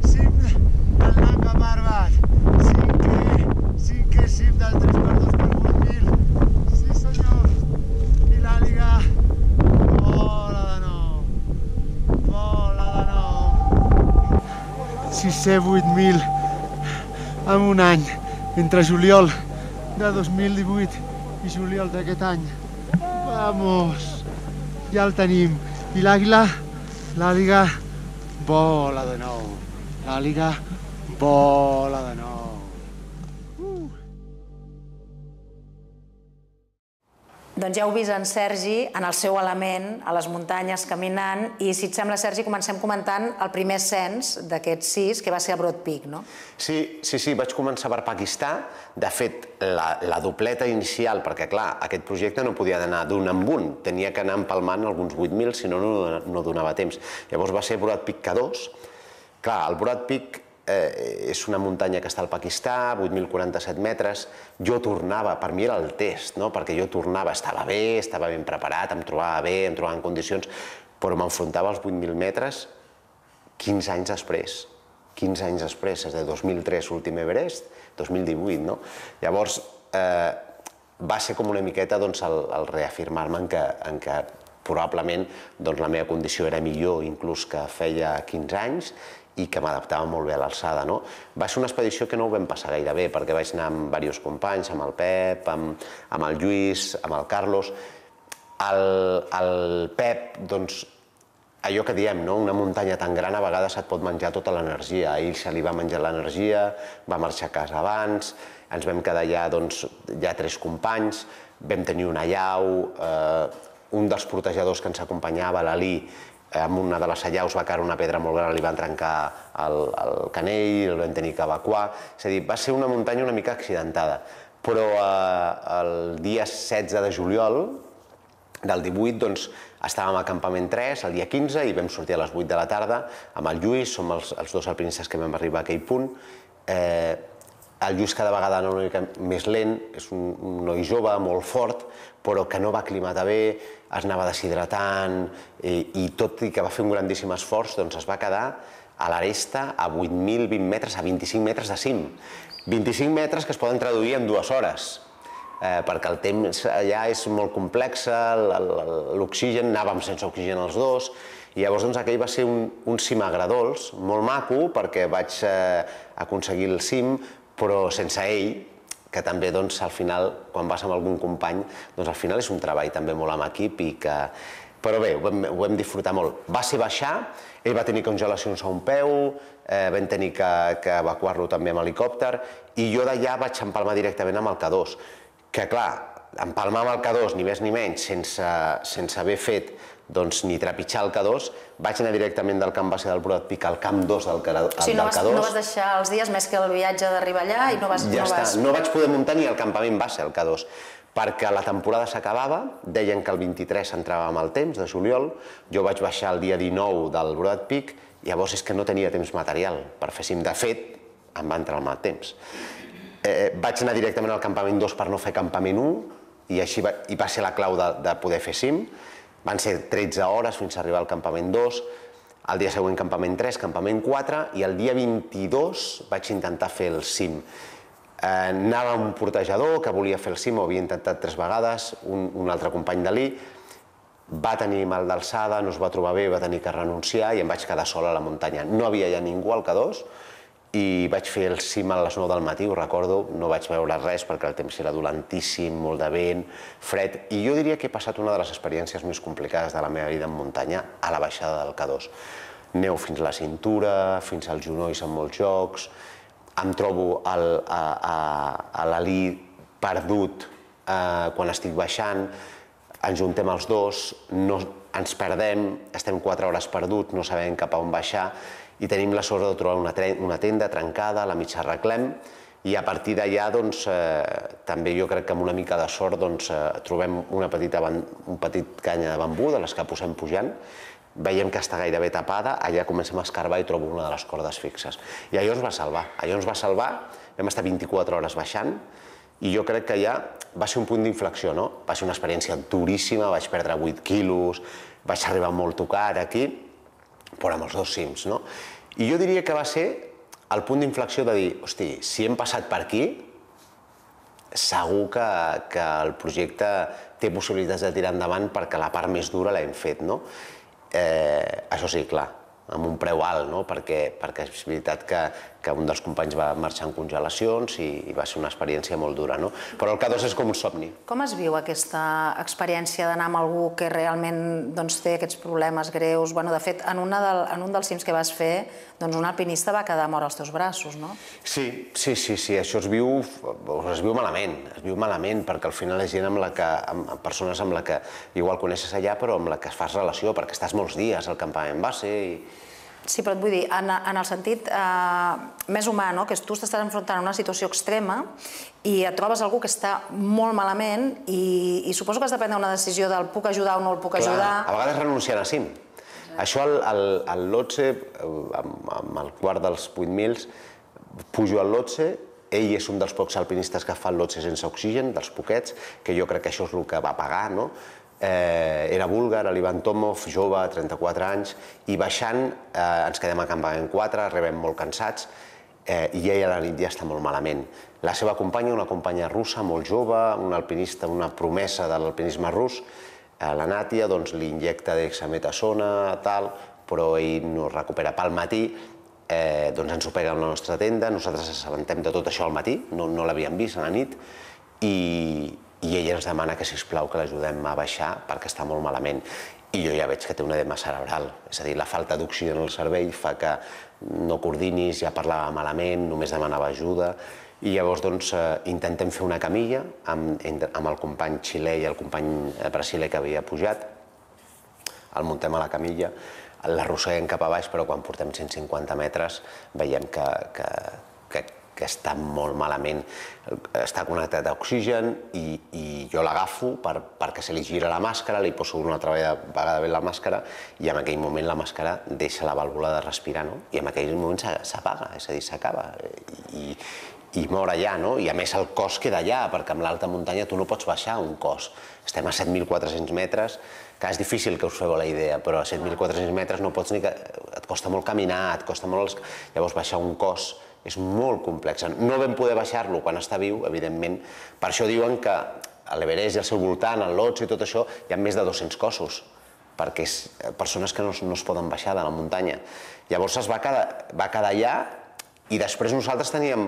cim del Nanga Parbat. Cinquè cim del 3x2 per 8.000. Sí senyor. Finàliga. Vola de nou. Vola de nou. 608.000 en un any, entre juliol de 2018 i juliol d'aquest any. Vamos! Ja el tenim. I l'àguila vola de nou. L'àguila vola de nou. Doncs ja heu vist en Sergi en el seu element, a les muntanyes, caminant, i si et sembla, Sergi, comencem comentant el primer ascens d'aquests 6, que va ser a Broad Peak, no? Sí, vaig començar per Pakistà. De fet, la dobleta inicial, perquè clar, aquest projecte no podia anar d'un en un, tenia que anar empalmant alguns 8.000, si no, no donava temps. Llavors va ser Broad Peak K2. Clar, el Broad Peak és una muntanya que està al Pakistà, 8.047 metres. Jo tornava, per mi era el test, perquè jo tornava, estava ben preparat, em trobava bé, em trobava en condicions, però m'enfrontava als 8.000 metres 15 anys després. 15 anys després, és de 2003, l'últim Everest, 2018, no? Llavors, va ser com una miqueta el reafirmar-me en què probablement la meva condició era millor inclús que feia 15 anys i que m'adaptava molt bé a l'alçada. Va ser una expedició que no ho vam passar gaire bé, perquè vaig anar amb diversos companys, amb el Pep, amb el Lluís, amb el Carlos. El Pep, doncs, allò que diem, una muntanya tan gran a vegades et pot menjar tota l'energia. A ell se li va menjar l'energia, va marxar a casa abans, ens vam quedar allà, ja 3 companys, vam tenir una allau, un dels portejadors que ens acompanyava, l'Ali, amb una de les allaus va caure una pedra molt gran, li van trencar el canell, el vam tenir que evacuar. És a dir, va ser una muntanya una mica accidentada. Però el dia 16 de juliol del 18, doncs, estàvem a campament 3, el dia 15, i vam sortir a les 8 de la tarda amb el Lluís, som els 2 alpinistes que vam arribar a aquell punt. El Lluís cada vegada anava una mica més lent, és un noi jove, molt fort, però que no va aclimatar bé, es anava deshidratant, i tot i que va fer un grandíssim esforç, doncs es va quedar a l'aresta a 8.020 metres, a 25 metres de cim. 25 metres que es poden traduir en 2 hores, perquè el temps allà és molt complex, l'oxigen, anàvem sense oxigen els dos, i llavors aquell va ser un cim agredolç, molt maco, perquè vaig aconseguir el cim, però sense ell, que també al final, quan vas amb algun company, al final és un treball també molt amb equip, però bé, ho vam disfrutar molt. Va ser baixar, ell va tenir congelacions a un peu, vam tenir que evacuar-lo també amb helicòpter, i jo d'allà vaig empalmar directament amb el K2, que clar, empalmar amb el K2, ni més ni menys, sense haver fet ni trepitjar el K2, vaig anar directament del camp base del Broad Peak al camp 2 del K2. O sigui, no vas deixar els dies més que el viatge d'arribar allà i no vas... Ja està, no vaig poder muntar ni al campament base, el K2, perquè la temporada s'acabava, deien que el 23 entrava amb el temps, de juliol, jo vaig baixar el dia 19 del Broad Peak, llavors és que no tenia temps material per fer cim. De fet, em va entrar el mal temps. Vaig anar directament al campament 2 per no fer campament 1, i així va ser la clau de poder fer cim. Van ser 13 hores fins a arribar al campament 2, el dia següent campament 3, campament 4, i el dia 22 vaig intentar fer el cim. Anava amb un portejador que volia fer el cim, ho havia intentat 3 vegades, un altre company d'Ali, va tenir mal d'alçada, no es va trobar bé, va tenir que renunciar i em vaig quedar sol a la muntanya. No havia ja ningú al K2 i vaig fer el cim a les 9 del matí, ho recordo, no vaig veure res perquè el temps era dolentíssim, molt de vent, fred, i jo diria que he passat una de les experiències més complicades de la meva vida en muntanya a la baixada del K2. Neu fins a la cintura, fins als genolls en molts llocs, em trobo a l'Ali perdut quan estic baixant, ens juntem els dos, ens perdem, estem 4 hores perduts, no sabem cap a on baixar, i tenim la sort de trobar una tenda trencada, la mig arreglem, i a partir d'allà també jo crec que amb una mica de sort trobem un petit canya de bambú de les que posem pujant, veiem que està gairebé tapada, allà comencem a escarbar i trobo una de les cordes fixes. I allò ens va salvar, vam estar 24 hores baixant i jo crec que ja va ser un punt d'inflexió, no? Va ser una experiència duríssima, vaig perdre 8 quilos, vaig arribar molt tocat aquí, però amb els 2 cims, no? I jo diria que va ser el punt d'inflexió de dir, hosti, si hem passat per aquí, segur que el projecte té possibilitats de tirar endavant perquè la part més dura l'hem fet, no? Això sí, clar, amb un preu alt, no? Perquè és veritat que un dels companys va marxar en congelacions i va ser una experiència molt dura, no? Però el K2 és com un somni. Com es viu aquesta experiència d'anar amb algú que realment té aquests problemes greus? De fet, en un dels cims que vas fer, un alpinista va quedar mort als teus braços, no? Sí, això es viu malament, perquè al final és gent persones amb la que igual coneixes allà, però amb la que fas relació, perquè estàs molts dies al campament base i... Sí, però et vull dir, en el sentit més humà, que tu t'estàs enfrontant a una situació extrema i et trobes algú que està molt malament i suposo que has de prendre una decisió del puc ajudar o no el puc ajudar. A vegades renunciant a cim. Això al Lhotse, amb el quart dels 8.000, pujo al Lhotse, ell és un dels pocs alpinistes que fa el Lhotse sense oxigen, dels poquets, que jo crec que això és el que va pagar, no? Era búlgar, l'Ivan Tomov, jove, 34 anys, i baixant ens quedem a campament 4, arribem molt cansats, i ell a la nit ja està molt malament. La seva companya, una companya russa, molt jove, una alpinista, una promesa de l'alpinisme rus, la Nàtia, li injecta dexametasona, tal, però ell no es recupera pel matí, ens ho pega a la nostra tenda, nosaltres ens assabentem de tot això al matí, no l'havíem vist a la nit, i ella ens demana que, sisplau, que l'ajudem a baixar perquè està molt malament. I jo ja veig que té un edema cerebral, és a dir, la falta d'oxigen al cervell fa que no coordinis, ja parlava malament, només demanava ajuda, i llavors intentem fer una camilla amb el company xilè i el company brasiler que havia pujat, el muntem a la camilla, l'arrosseguem cap a baix, però quan portem 150 metres veiem que està molt malament. Està connectat a oxigen i jo l'agafo perquè se li gira la màscara, li poso una altra vegada bé la màscara i en aquell moment la màscara deixa la vàlvula de respirar, no? I en aquell moment s'apaga, és a dir, s'acaba i mor allà, no? I a més el cos queda allà, perquè amb l'alta muntanya tu no pots baixar un cos. Estem a 7.400 metres, que és difícil que us feu la idea, però a 7.400 metres no pots ni... Et costa molt caminar, et costa molt... Llavors baixar un cos és molt complex. No vam poder baixar-lo quan està viu, evidentment. Per això diuen que a l'Everest i al seu voltant, al Lhotse i tot això, hi ha més de 200 cossos, perquè és persones que no es poden baixar de la muntanya. Llavors es va quedar allà i després nosaltres teníem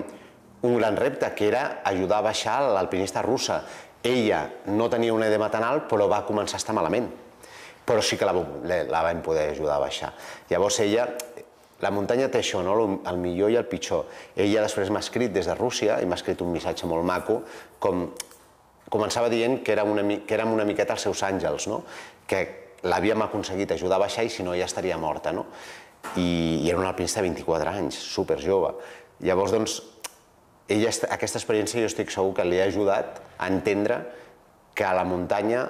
un gran repte, que era ajudar a baixar l'alpinista russa. Ella no tenia un edema tan alt, però va començar a estar malament. Però sí que la vam poder ajudar a baixar. Llavors ella... La muntanya té això, el millor i el pitjor. Ella després m'ha escrit des de Rússia i m'ha escrit un missatge molt maco, com començava dient que érem una miqueta els seus àngels, que l'havíem aconseguit ajudar a baixar i si no ja estaria morta. I era una alpinista de 24 anys, superjove. Llavors, doncs, aquesta experiència jo estic segur que li ha ajudat a entendre que a la muntanya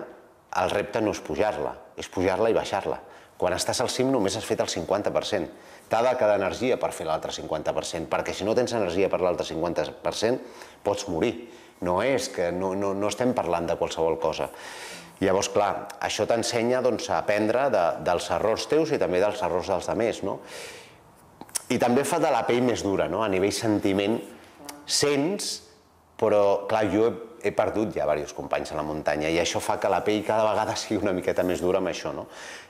el repte no és pujar-la, és pujar-la i baixar-la. Quan estàs al cim només has fet el 50%. T'ha de quedar energia per fer l'altre 50%, perquè si no tens energia per l'altre 50% pots morir. No estem parlant de qualsevol cosa. Llavors, clar, això t'ensenya a aprendre dels errors teus i també dels errors dels altres. I també fa de la pell més dura, a nivell sentiment. Sents, però, clar, jo he perdut ja diversos companys a la muntanya i això fa que la pell cada vegada sigui una miqueta més dura amb això,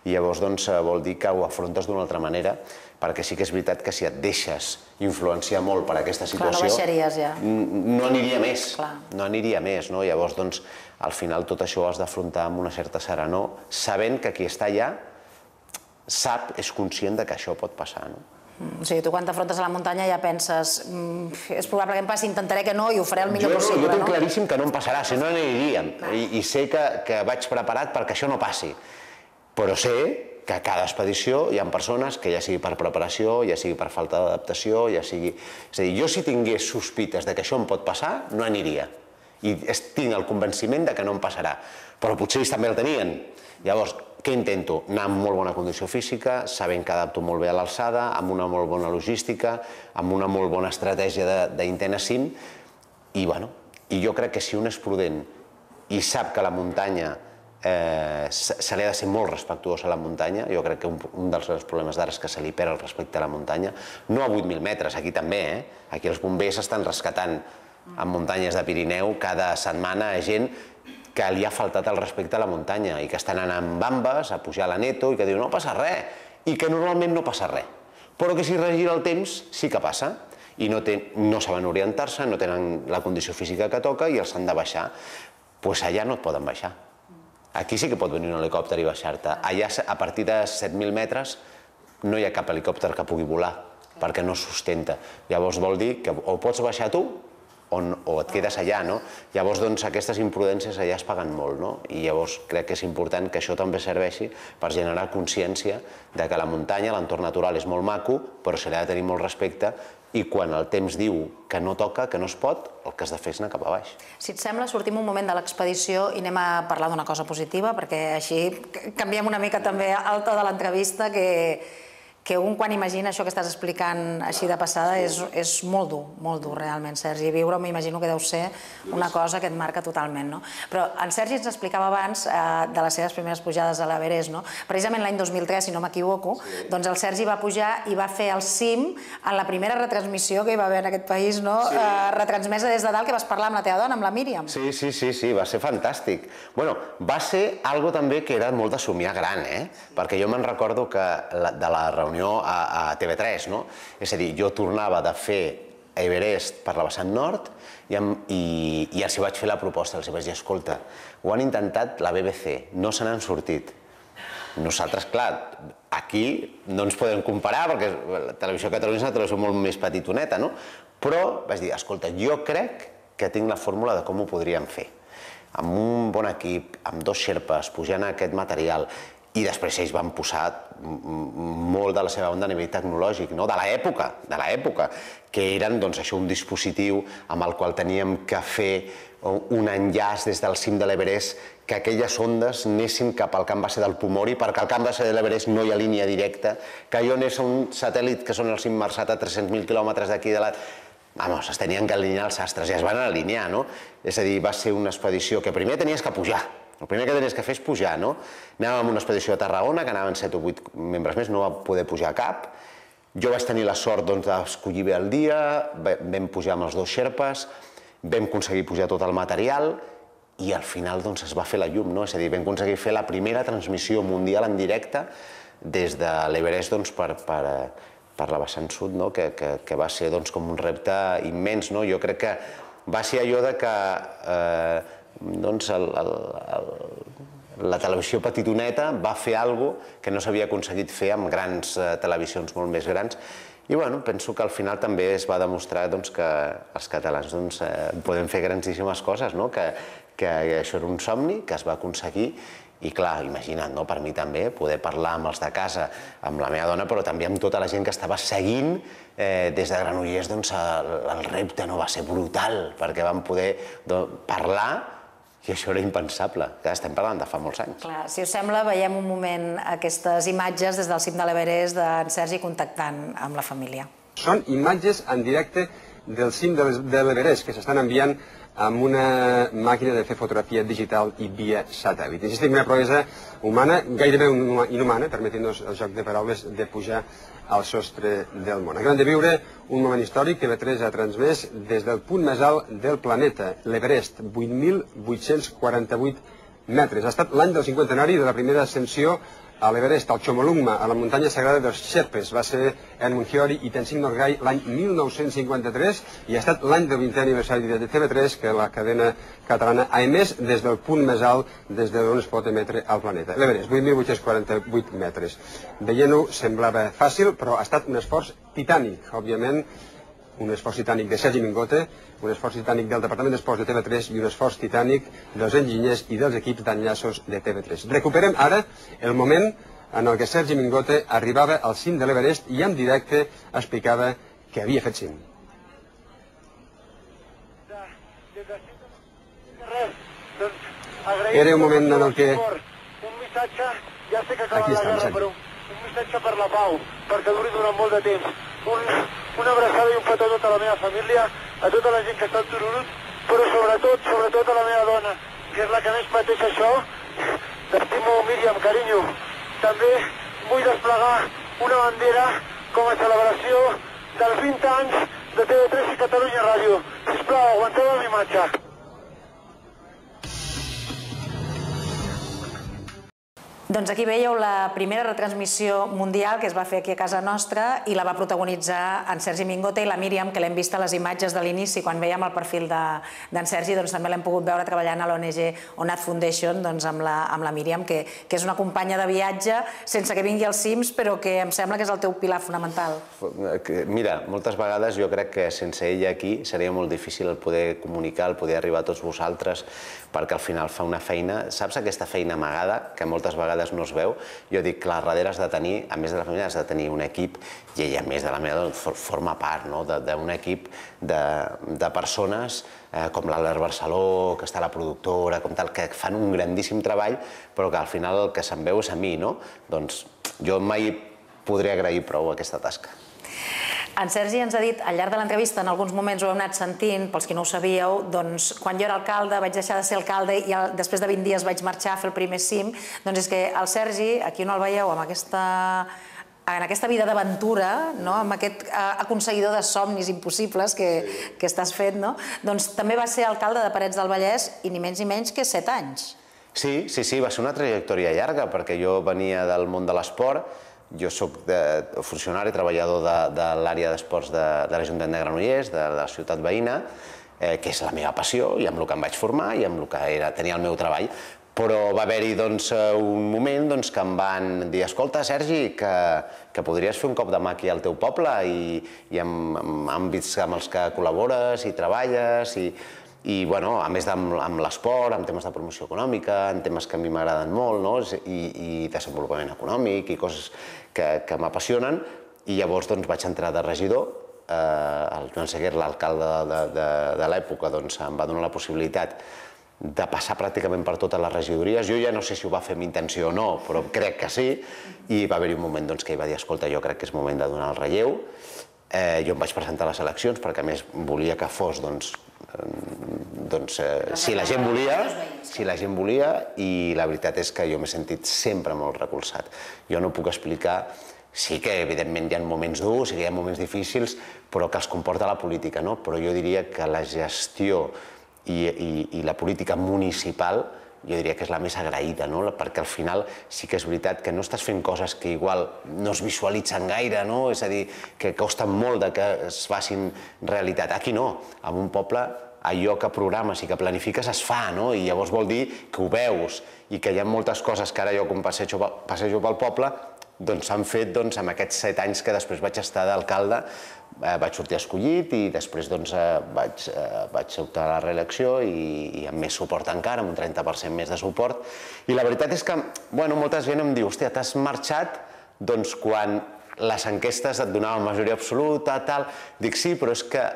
I llavors, doncs, vol dir que ho afrontes d'una altra manera, perquè sí que és veritat que si et deixes influenciar molt per aquesta situació... Clar, no baixaries ja. No aniria més, no aniria més, Llavors, doncs, al final tot això ho has d'afrontar amb una certa serenor, sabent que qui està allà sap, és conscient que això pot passar, O sigui, tu quan t'afrontes a la muntanya ja penses és probable que em passi, intentaré que no i ho faré el millor possible, Jo tinc claríssim que no em passarà, si no aniríem. I sé que vaig preparat perquè això no passi. Però sé que a cada expedició hi ha persones que ja sigui per preparació, ja sigui per falta d'adaptació, ja sigui... És a dir, jo si tingués sospites de que això em pot passar, no aniria. I tinc el convenciment de que no em passarà. Però potser ells també el tenien. Llavors, què intento? Anar amb molt bona condició física, sabent que adapto molt bé a l'alçada, amb una molt bona logística, amb una molt bona estratègia d'intent a cim, i, bueno, I jo crec que si un és prudent i sap que la muntanya se li ha de ser molt respectuós a la muntanya, jo crec que un dels problemes d'ara és que se li perd el respecte a la muntanya, no a 8.000 metres, aquí també, aquí els bombers estan rescatant en muntanyes de Pirineu cada setmana gent que li ha faltat el respecte a la muntanya i que estan anant amb bambes a pujar a la Neto i que diu no passa res, i que normalment no passa res, però que si regira el temps sí que passa i no saben orientar-se, no tenen la condició física que toca i els han de baixar. Doncs allà no et poden baixar. Aquí sí que pot venir un helicòpter i baixar-te. Allà, a partir de 7.000 metres, no hi ha cap helicòpter que pugui volar, perquè no sustenta. Llavors vol dir que o pots baixar tu o et quedes allà, no? Llavors, doncs, aquestes imprudències allà es paguen molt, no? I llavors crec que és important que això també serveixi per generar consciència de que la muntanya, l'entorn natural és molt maco, però se li ha de tenir molt respecte i quan el temps diu que no toca, que no es pot, el que has de fer és anar cap a baix. Si et sembla, sortim un moment de l'expedició i anem a parlar d'una cosa positiva, perquè així canviem una mica també el to de l'entrevista, que un quan imagina això que estàs explicant així de passada és molt dur realment, Sergi. Viure m'imagino que deu ser una cosa que et marca totalment, no? Però en Sergi ens explicava abans de les seves primeres pujades a l'Everest, no? Precisament l'any 2003, si no m'equivoco, doncs el Sergi va pujar i va fer el cim en la primera retransmissió que hi va haver en aquest país, no? Retransmesa des de dalt, que vas parlar amb la teva dona, amb la Míriam. Sí, va ser fantàstic. Bueno, va ser algo també que era molt de somiar gran, perquè jo me'n recordo que de la reunió a TV3, no? És a dir, jo tornava de fer Everest per la vessant nord i els vaig fer la proposta, els vaig dir, escolta, ho han intentat la BBC, no se n'han sortit. Nosaltres, clar, aquí no ens podem comparar perquè la televisió catalana és una televisió molt més petitoneta, no? Però vaig dir, escolta, jo crec que tinc la fórmula de com ho podríem fer. Amb un bon equip, amb 2 xerpes, pujant aquest material, i després ells van posar molt de la seva onda a nivell tecnològic, de l'època, que eren un dispositiu amb el qual teníem que fer un enllaç des del cim de l'Everest, que aquelles ondes anessin cap al camp base del Pomori, perquè al camp base de l'Everest no hi ha línia directa, que allò anés a un satèl·lit que són el cim Marsat a 300.000 quilòmetres d'aquí de la... Vamos, es tenien que alinear els astres i es van alinear, no? És a dir, va ser una expedició que primer tenies que pujar. El primer que tenies que fer és pujar, no? Anàvem amb una expedició a Tarragona, que anaven 7 o 8 membres més, no va poder pujar cap. Jo vaig tenir la sort d'escollir bé el dia, vam pujar amb els 2 xerpes, vam aconseguir pujar tot el material i al final es va fer la llum, no? És a dir, vam aconseguir fer la primera transmissió mundial en directe des de l'Everest per la vessant sud, que va ser com un repte immens. Jo crec que va ser allò que la televisió petitoneta va fer alguna cosa que no s'havia aconseguit fer amb grans televisions molt més grans. I penso que al final també es va demostrar que els catalans podem fer grandíssimes coses, que això era un somni que es va aconseguir. I clar, imagina't, per mi també, poder parlar amb els de casa, amb la meva dona, però també amb tota la gent que estava seguint des de Granollers, el repte no va ser brutal, perquè vam poder parlar i això era impensable. Estem parlant de fa molts anys. Clar, si us sembla, veiem un moment aquestes imatges des del cim de l'Everest d'en Sergi contactant amb la família. Són imatges en directe del cim de l'Everest que s'estan enviant amb una màquina de fer fotografia digital i via satèl·lit. Insistim, una proesa humana, gairebé inhumana, permetent-nos el joc de paraules, de pujar al sostre del món. Acabem de viure un moment històric que TV3 ha transmès des del punt més alt del planeta, l'Everest, 8.848 metres. Ha estat l'any del 50ennari de la primera ascensió a l'Everest, al Chomolungma, a la muntanya sagrada dels Sherpes. Va ser Edmund Hillary i Tenzing Norgay l'any 1953 i ha estat l'any del 20è aniversari de TV3 que la cadena catalana ha emès des del punt més alt des d'on es pot emetre al planeta. L'Everest, 8.848 metres. Veient-ho semblava fàcil, però ha estat un esforç titànic, òbviament, un esforç titànic de Sergi Mingote, un esforç titànic del Departament d'Esports de TV3 i un esforç titànic dels enginyers i dels equips d'enllaços de TV3. Recuperem ara el moment en el que Sergi Mingote arribava al cim de l'Everest i en directe explicava que havia fet cim. Era un moment en el que... Un missatge, ja sé que acaba la guerra, però un missatge per la pau, perquè duri durant molt de temps. Una abraçada i un petó a tota la meva família, a tota la gent que està al Tururut però sobretot a la meva dona, que és la que més pateix això. T'estimo, Míriam, carinyo. També vull desplegar una bandera com a celebració dels 20 anys de TV3 i Catalunya Ràdio. Sisplau, aguanteu amb imatge. Doncs aquí veieu la primera retransmissió mundial que es va fer aquí a casa nostra i la va protagonitzar en Sergi Mingote i la Míriam, que l'hem vist a les imatges de l'inici quan veiem el perfil d'en Sergi, doncs també l'hem pogut veure treballant a l'ONG ONAD Foundation amb la Míriam, que és una companya de viatge sense que vingui als cims, però que em sembla que és el teu pilar fonamental. Mira, moltes vegades jo crec que sense ella aquí seria molt difícil el poder comunicar, el poder arribar a tots vosaltres, perquè al final fa una feina, saps aquesta feina amagada, que moltes vegades no es veu? Jo dic que darrere has de tenir, a més de la família, has de tenir un equip, i ella, a més de la meva, forma part d'un equip de persones com l'Albert Barceló, que està la productora, com tal, que fan un grandíssim treball, però que al final el que se'n veu és a mi, no? Doncs jo mai podré agrair prou aquesta tasca. En Sergi ens ha dit, al llarg de l'entrevista, en alguns moments ho hem anat sentint, pels que no ho sabíeu, doncs quan jo era alcalde vaig deixar de ser alcalde i després de 20 dies vaig marxar a fer el primer cim. Doncs és que el Sergi, aquí no el veieu, en aquesta vida d'aventura, amb aquest aconseguidor de somnis impossibles que estàs fent, doncs també va ser alcalde de Parets del Vallès i ni menys ni menys que 7 anys. Sí, va ser una trajectòria llarga, perquè jo venia del món de l'esport. Jo soc funcionari, treballador de l'àrea d'esports de l'Ajuntament de Granollers, de la ciutat veïna, que és la meva passió i amb el que em vaig formar i amb el que tenia el meu treball. Però va haver-hi un moment que em van dir: escolta, Sergi, que podries fer un cop de mà aquí al teu poble i en àmbits amb els que col·labores i treballes i, a més amb l'esport, amb temes de promoció econòmica, en temes que a mi m'agraden molt, i desenvolupament econòmic i coses que m'apassionen. I llavors vaig entrar de regidor. El Joan Seguer, l'alcalde de l'època, em va donar la possibilitat de passar pràcticament per totes les regidories. Jo ja no sé si ho va fer amb intenció o no, però crec que sí. I va haver-hi un moment que ell va dir: escolta, jo crec que és moment de donar el relleu. Jo em vaig presentar a les eleccions perquè, a més, volia que fos si la gent volia, i la veritat és que jo m'he sentit sempre molt recolzat. Jo no puc explicar, sí que evidentment hi ha moments durs, sí que hi ha moments difícils, però que els comporta la política, no? Però jo diria que la gestió i la política municipal jo diria que és la més agraïda, perquè al final sí que és veritat que no estàs fent coses que igual no es visualitzen gaire, és a dir, que costen molt que es facin realitat. Aquí no, en un poble allò que programes i que planifiques es fa, i llavors vol dir que ho veus i que hi ha moltes coses que ara jo, quan passejo pel poble, s'han fet en aquests 7 anys que després vaig estar d'alcalde. Vaig sortir escollit i després vaig optar a la reelecció i amb més suport encara, amb un 30% més de suport. I la veritat és que molta gent em diu: hòstia, t'has marxat quan les enquestes et donaven majoria absoluta, tal. Dic, sí, però és que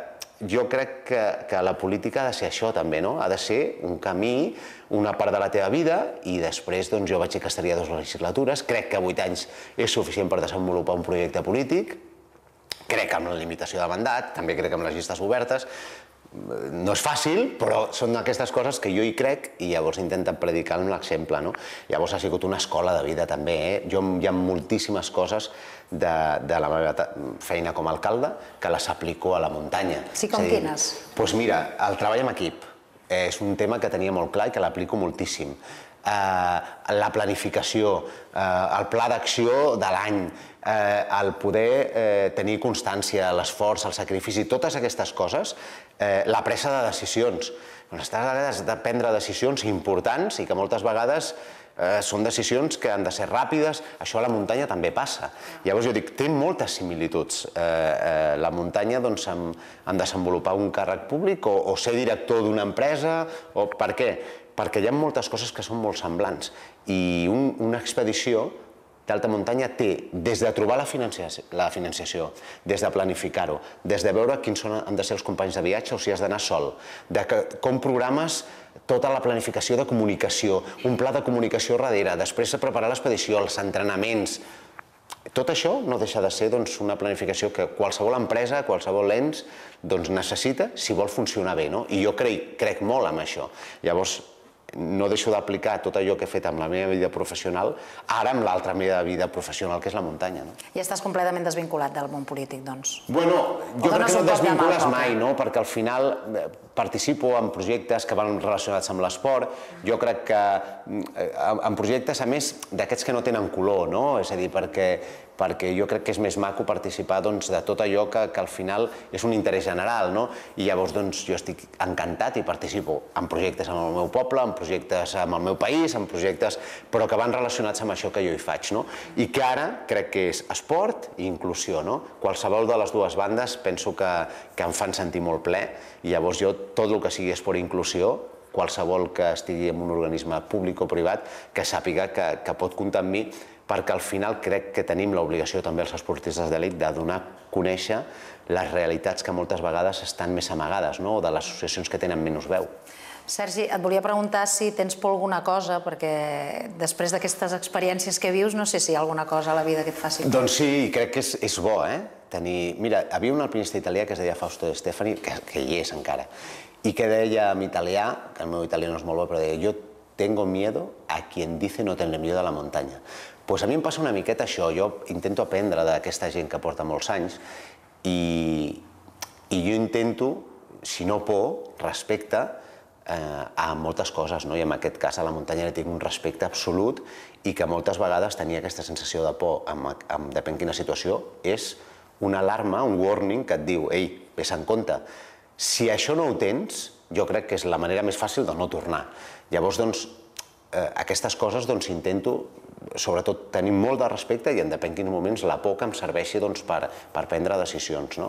jo crec que la política ha de ser això també, ha de ser un camí, una part de la teva vida, i després jo vaig dir que estaria 2 legislatures. Crec que 8 anys és suficient per desenvolupar un projecte polític. Crec amb la limitació de mandat, també crec amb les llistes obertes. No és fàcil, però són aquestes coses que jo hi crec i llavors intenten predicar amb l'exemple. Llavors ha sigut una escola de vida també. Hi ha moltíssimes coses de la meva feina com a alcalde que les aplico a la muntanya. Sí, com quines? Doncs mira, el treball en equip és un tema que tenia molt clar i que l'aplico moltíssim. La planificació, el pla d'acció de l'any, el poder tenir constància, l'esforç, el sacrifici, totes aquestes coses, la presa de decisions. Has de prendre decisions importants i que moltes vegades són decisions que han de ser ràpides. Això a la muntanya també passa. Llavors jo dic, té moltes similituds la muntanya en desenvolupar un càrrec públic o ser director d'una empresa. Per què? Perquè hi ha moltes coses que són molt semblants i una expedició d'alta muntanya té des de trobar la financiació, des de planificar-ho, des de veure quins han de ser els companys de viatge o si has d'anar sol, de com programes tota la planificació de comunicació, un pla de comunicació darrere, després de preparar l'expedició, els entrenaments. Tot això no deixa de ser una planificació que qualsevol empresa, qualsevol ens necessita si vol funcionar bé. I jo crec molt en això. Llavors, no deixo d'aplicar tot allò que he fet amb la meva vida professional ara amb l'altra meva vida professional, que és la muntanya. I estàs completament desvinculat del món polític, doncs? Bueno, jo crec que no et desvincules mai, perquè al final participo en projectes que van relacionats amb l'esport. Jo crec que en projectes, a més, d'aquests que no tenen color, és a dir, perquè jo crec que és més maco participar de tot allò que al final és un interès general, i llavors jo estic encantat i participo en projectes amb el meu poble, en projectes amb el meu país, en projectes però que van relacionats amb això que jo hi faig, i que ara crec que és esport i inclusió. Qualsevol de les dues bandes penso que em fan sentir molt ple, i llavors jo tot el que sigui esport i inclusió, qualsevol que estigui en un organisme públic o privat, que sàpiga que pot comptar amb mi, perquè al final crec que tenim l'obligació també els esportistes d'elit de donar a conèixer les realitats que moltes vegades estan més amagades, o de les associacions que tenen menys veu. Sergi, et volia preguntar si tens por alguna cosa, perquè després d'aquestes experiències que vius, no sé si hi ha alguna cosa a la vida que et faci por. Doncs sí, crec que és bo, Mira, hi havia un alpinista italià que es deia Fausto De Stefani, que hi és encara, i que deia en italià, que el meu italià no és molt bo, però deia: yo tengo miedo a quien dice no tener miedo a la montaña. Doncs a mi em passa una miqueta això, jo intento aprendre d'aquesta gent que porta molts anys i jo intento, si no por, respecte a moltes coses, i en aquest cas a la muntanya li tinc un respecte absolut, i que moltes vegades tenia aquesta sensació de por, depèn quina situació, és una alarma, un warning que et diu: ei, vés en compte. Si això no ho tens, jo crec que és la manera més fàcil de no tornar. Llavors, aquestes coses intento, sobretot, tenir molt de respecte i en depèn quins moments la por que em serveixi per prendre decisions.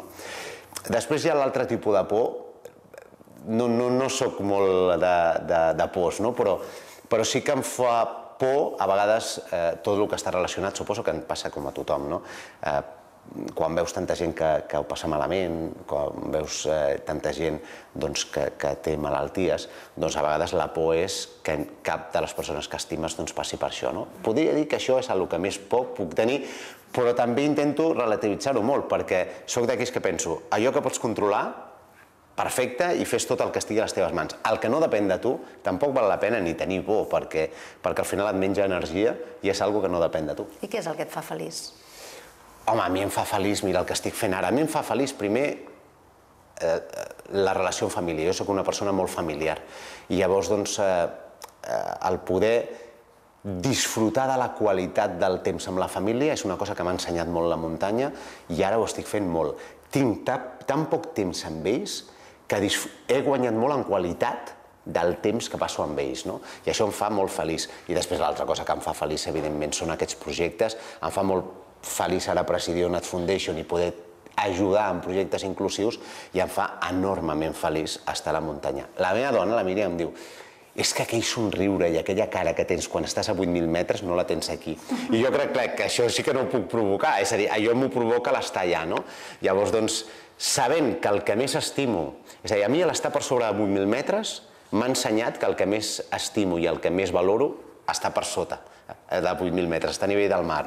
Després hi ha l'altre tipus de por. No soc molt de pors, però sí que em fa por a vegades tot el que està relacionat, suposo que em passa com a tothom, quan veus tanta gent que ho passa malament, quan veus tanta gent que té malalties, doncs a vegades la por és que cap de les persones que estimes passi per això. Podria dir que això és el que més por puc tenir, però també intento relativitzar-ho molt, perquè soc d'aquells que penso: allò que pots controlar, perfecte, i fes tot el que estigui a les teves mans. El que no depèn de tu, tampoc val la pena ni tenir por, perquè al final et menja energia i és una cosa que no depèn de tu. I què és el que et fa feliç? Home, a mi em fa feliç, mira el que estic fent ara. A mi em fa feliç, primer, la relació amb família. Jo soc una persona molt familiar. I llavors, el poder disfrutar de la qualitat del temps amb la família és una cosa que m'ha ensenyat molt la muntanya i ara ho estic fent molt. Tinc tan poc temps amb ells que he guanyat molt en qualitat del temps que passo amb ells, i això em fa molt feliç. I després l'altra cosa que em fa feliç, evidentment, són aquests projectes. Em fa molt feliç ara presidir Onat Foundation i poder ajudar en projectes inclusius, i em fa enormement feliç estar a la muntanya. La meva dona, la Míriam, em diu: és que aquell somriure i aquella cara que tens quan estàs a 8.000 metres no la tens aquí. I jo crec que això sí que no ho puc provocar, és a dir, allò m'ho provoca l'estar allà, Llavors, sabent que el que més estimo, és a dir, a mi l'estar per sobre de 8.000 metres m'ha ensenyat que el que més estimo i el que més valoro està per sota de 8.000 metres, està a nivell del mar,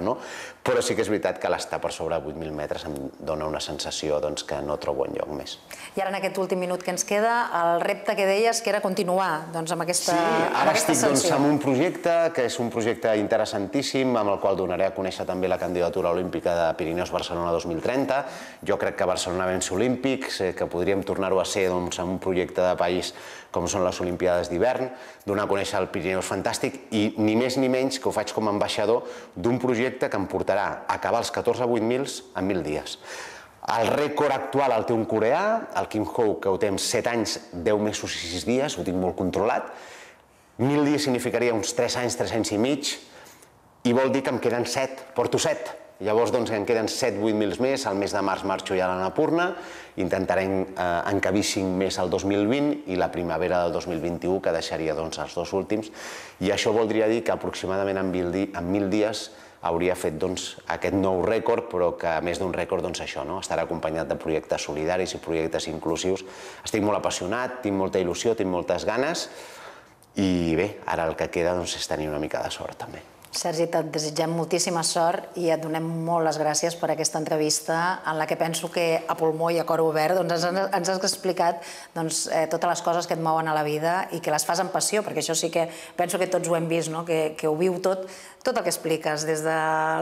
però sí que és veritat que l'estar per sobre de 8.000 metres em dona una sensació que no trobo enlloc més. I ara en aquest últim minut que ens queda, el repte que deies que era continuar amb aquesta ascensió. Sí, ara estic en un projecte que és un projecte interessantíssim, amb el qual donaré a conèixer també la candidatura olímpica de Pirineus Barcelona 2030. Jo crec que Barcelona vens olímpics, que podríem tornar-ho a ser en un projecte de país com són les Olimpiades d'hivern, donar a conèixer el Pirineus fantàstic i ni més ni menys que ho faig com a ambaixador d'un projecte que em portarà a acabar els 14 8.000 en 1.000 dies. El rècord actual el té un coreà, el Kim Ho, que ho té en 7 anys, 10 mesos i 6 dies, ho tinc molt controlat. 1.000 dies significaria uns 3 anys, 3 anys i mig, i vol dir que em queden 7, porto 7. Llavors em queden 7-8.000 més, al mes de març marxo ja a l'Annapurna, intentaré encabir 5 més al 2020 i la primavera del 2021, que deixaria els 2 últims, i això voldria dir que aproximadament en 1.000 dies hauria fet aquest nou rècord, però que a més d'un rècord això, estarà acompanyat de projectes solidaris i projectes inclusius. Estic molt apassionat, tinc molta il·lusió, tinc moltes ganes, i bé, ara el que queda és tenir una mica de sort també. Sergi, et desitgem moltíssima sort i et donem molt les gràcies per aquesta entrevista en la que penso que a pulmó i a cor obert ens has explicat totes les coses que et mouen a la vida i que les fas amb passió, perquè això sí que penso que tots ho hem vist, que ho viu tot el que expliques, des de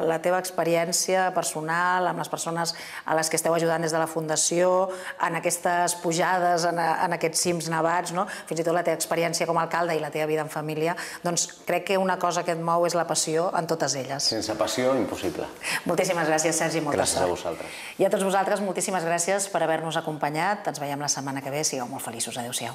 la teva experiència personal, amb les persones a les que esteu ajudant des de la Fundació, en aquestes pujades, en aquests cims nevats, fins i tot la teva experiència com a alcalde i la teva vida en família, doncs crec que una cosa que et mou és la passió en totes elles. Sense passió, impossible. Moltíssimes gràcies, Sergi, molta sort. Gràcies a vosaltres. I a tots vosaltres, moltíssimes gràcies per haver-nos acompanyat. Ens veiem la setmana que ve. Sigueu molt feliços. Adéu-siau.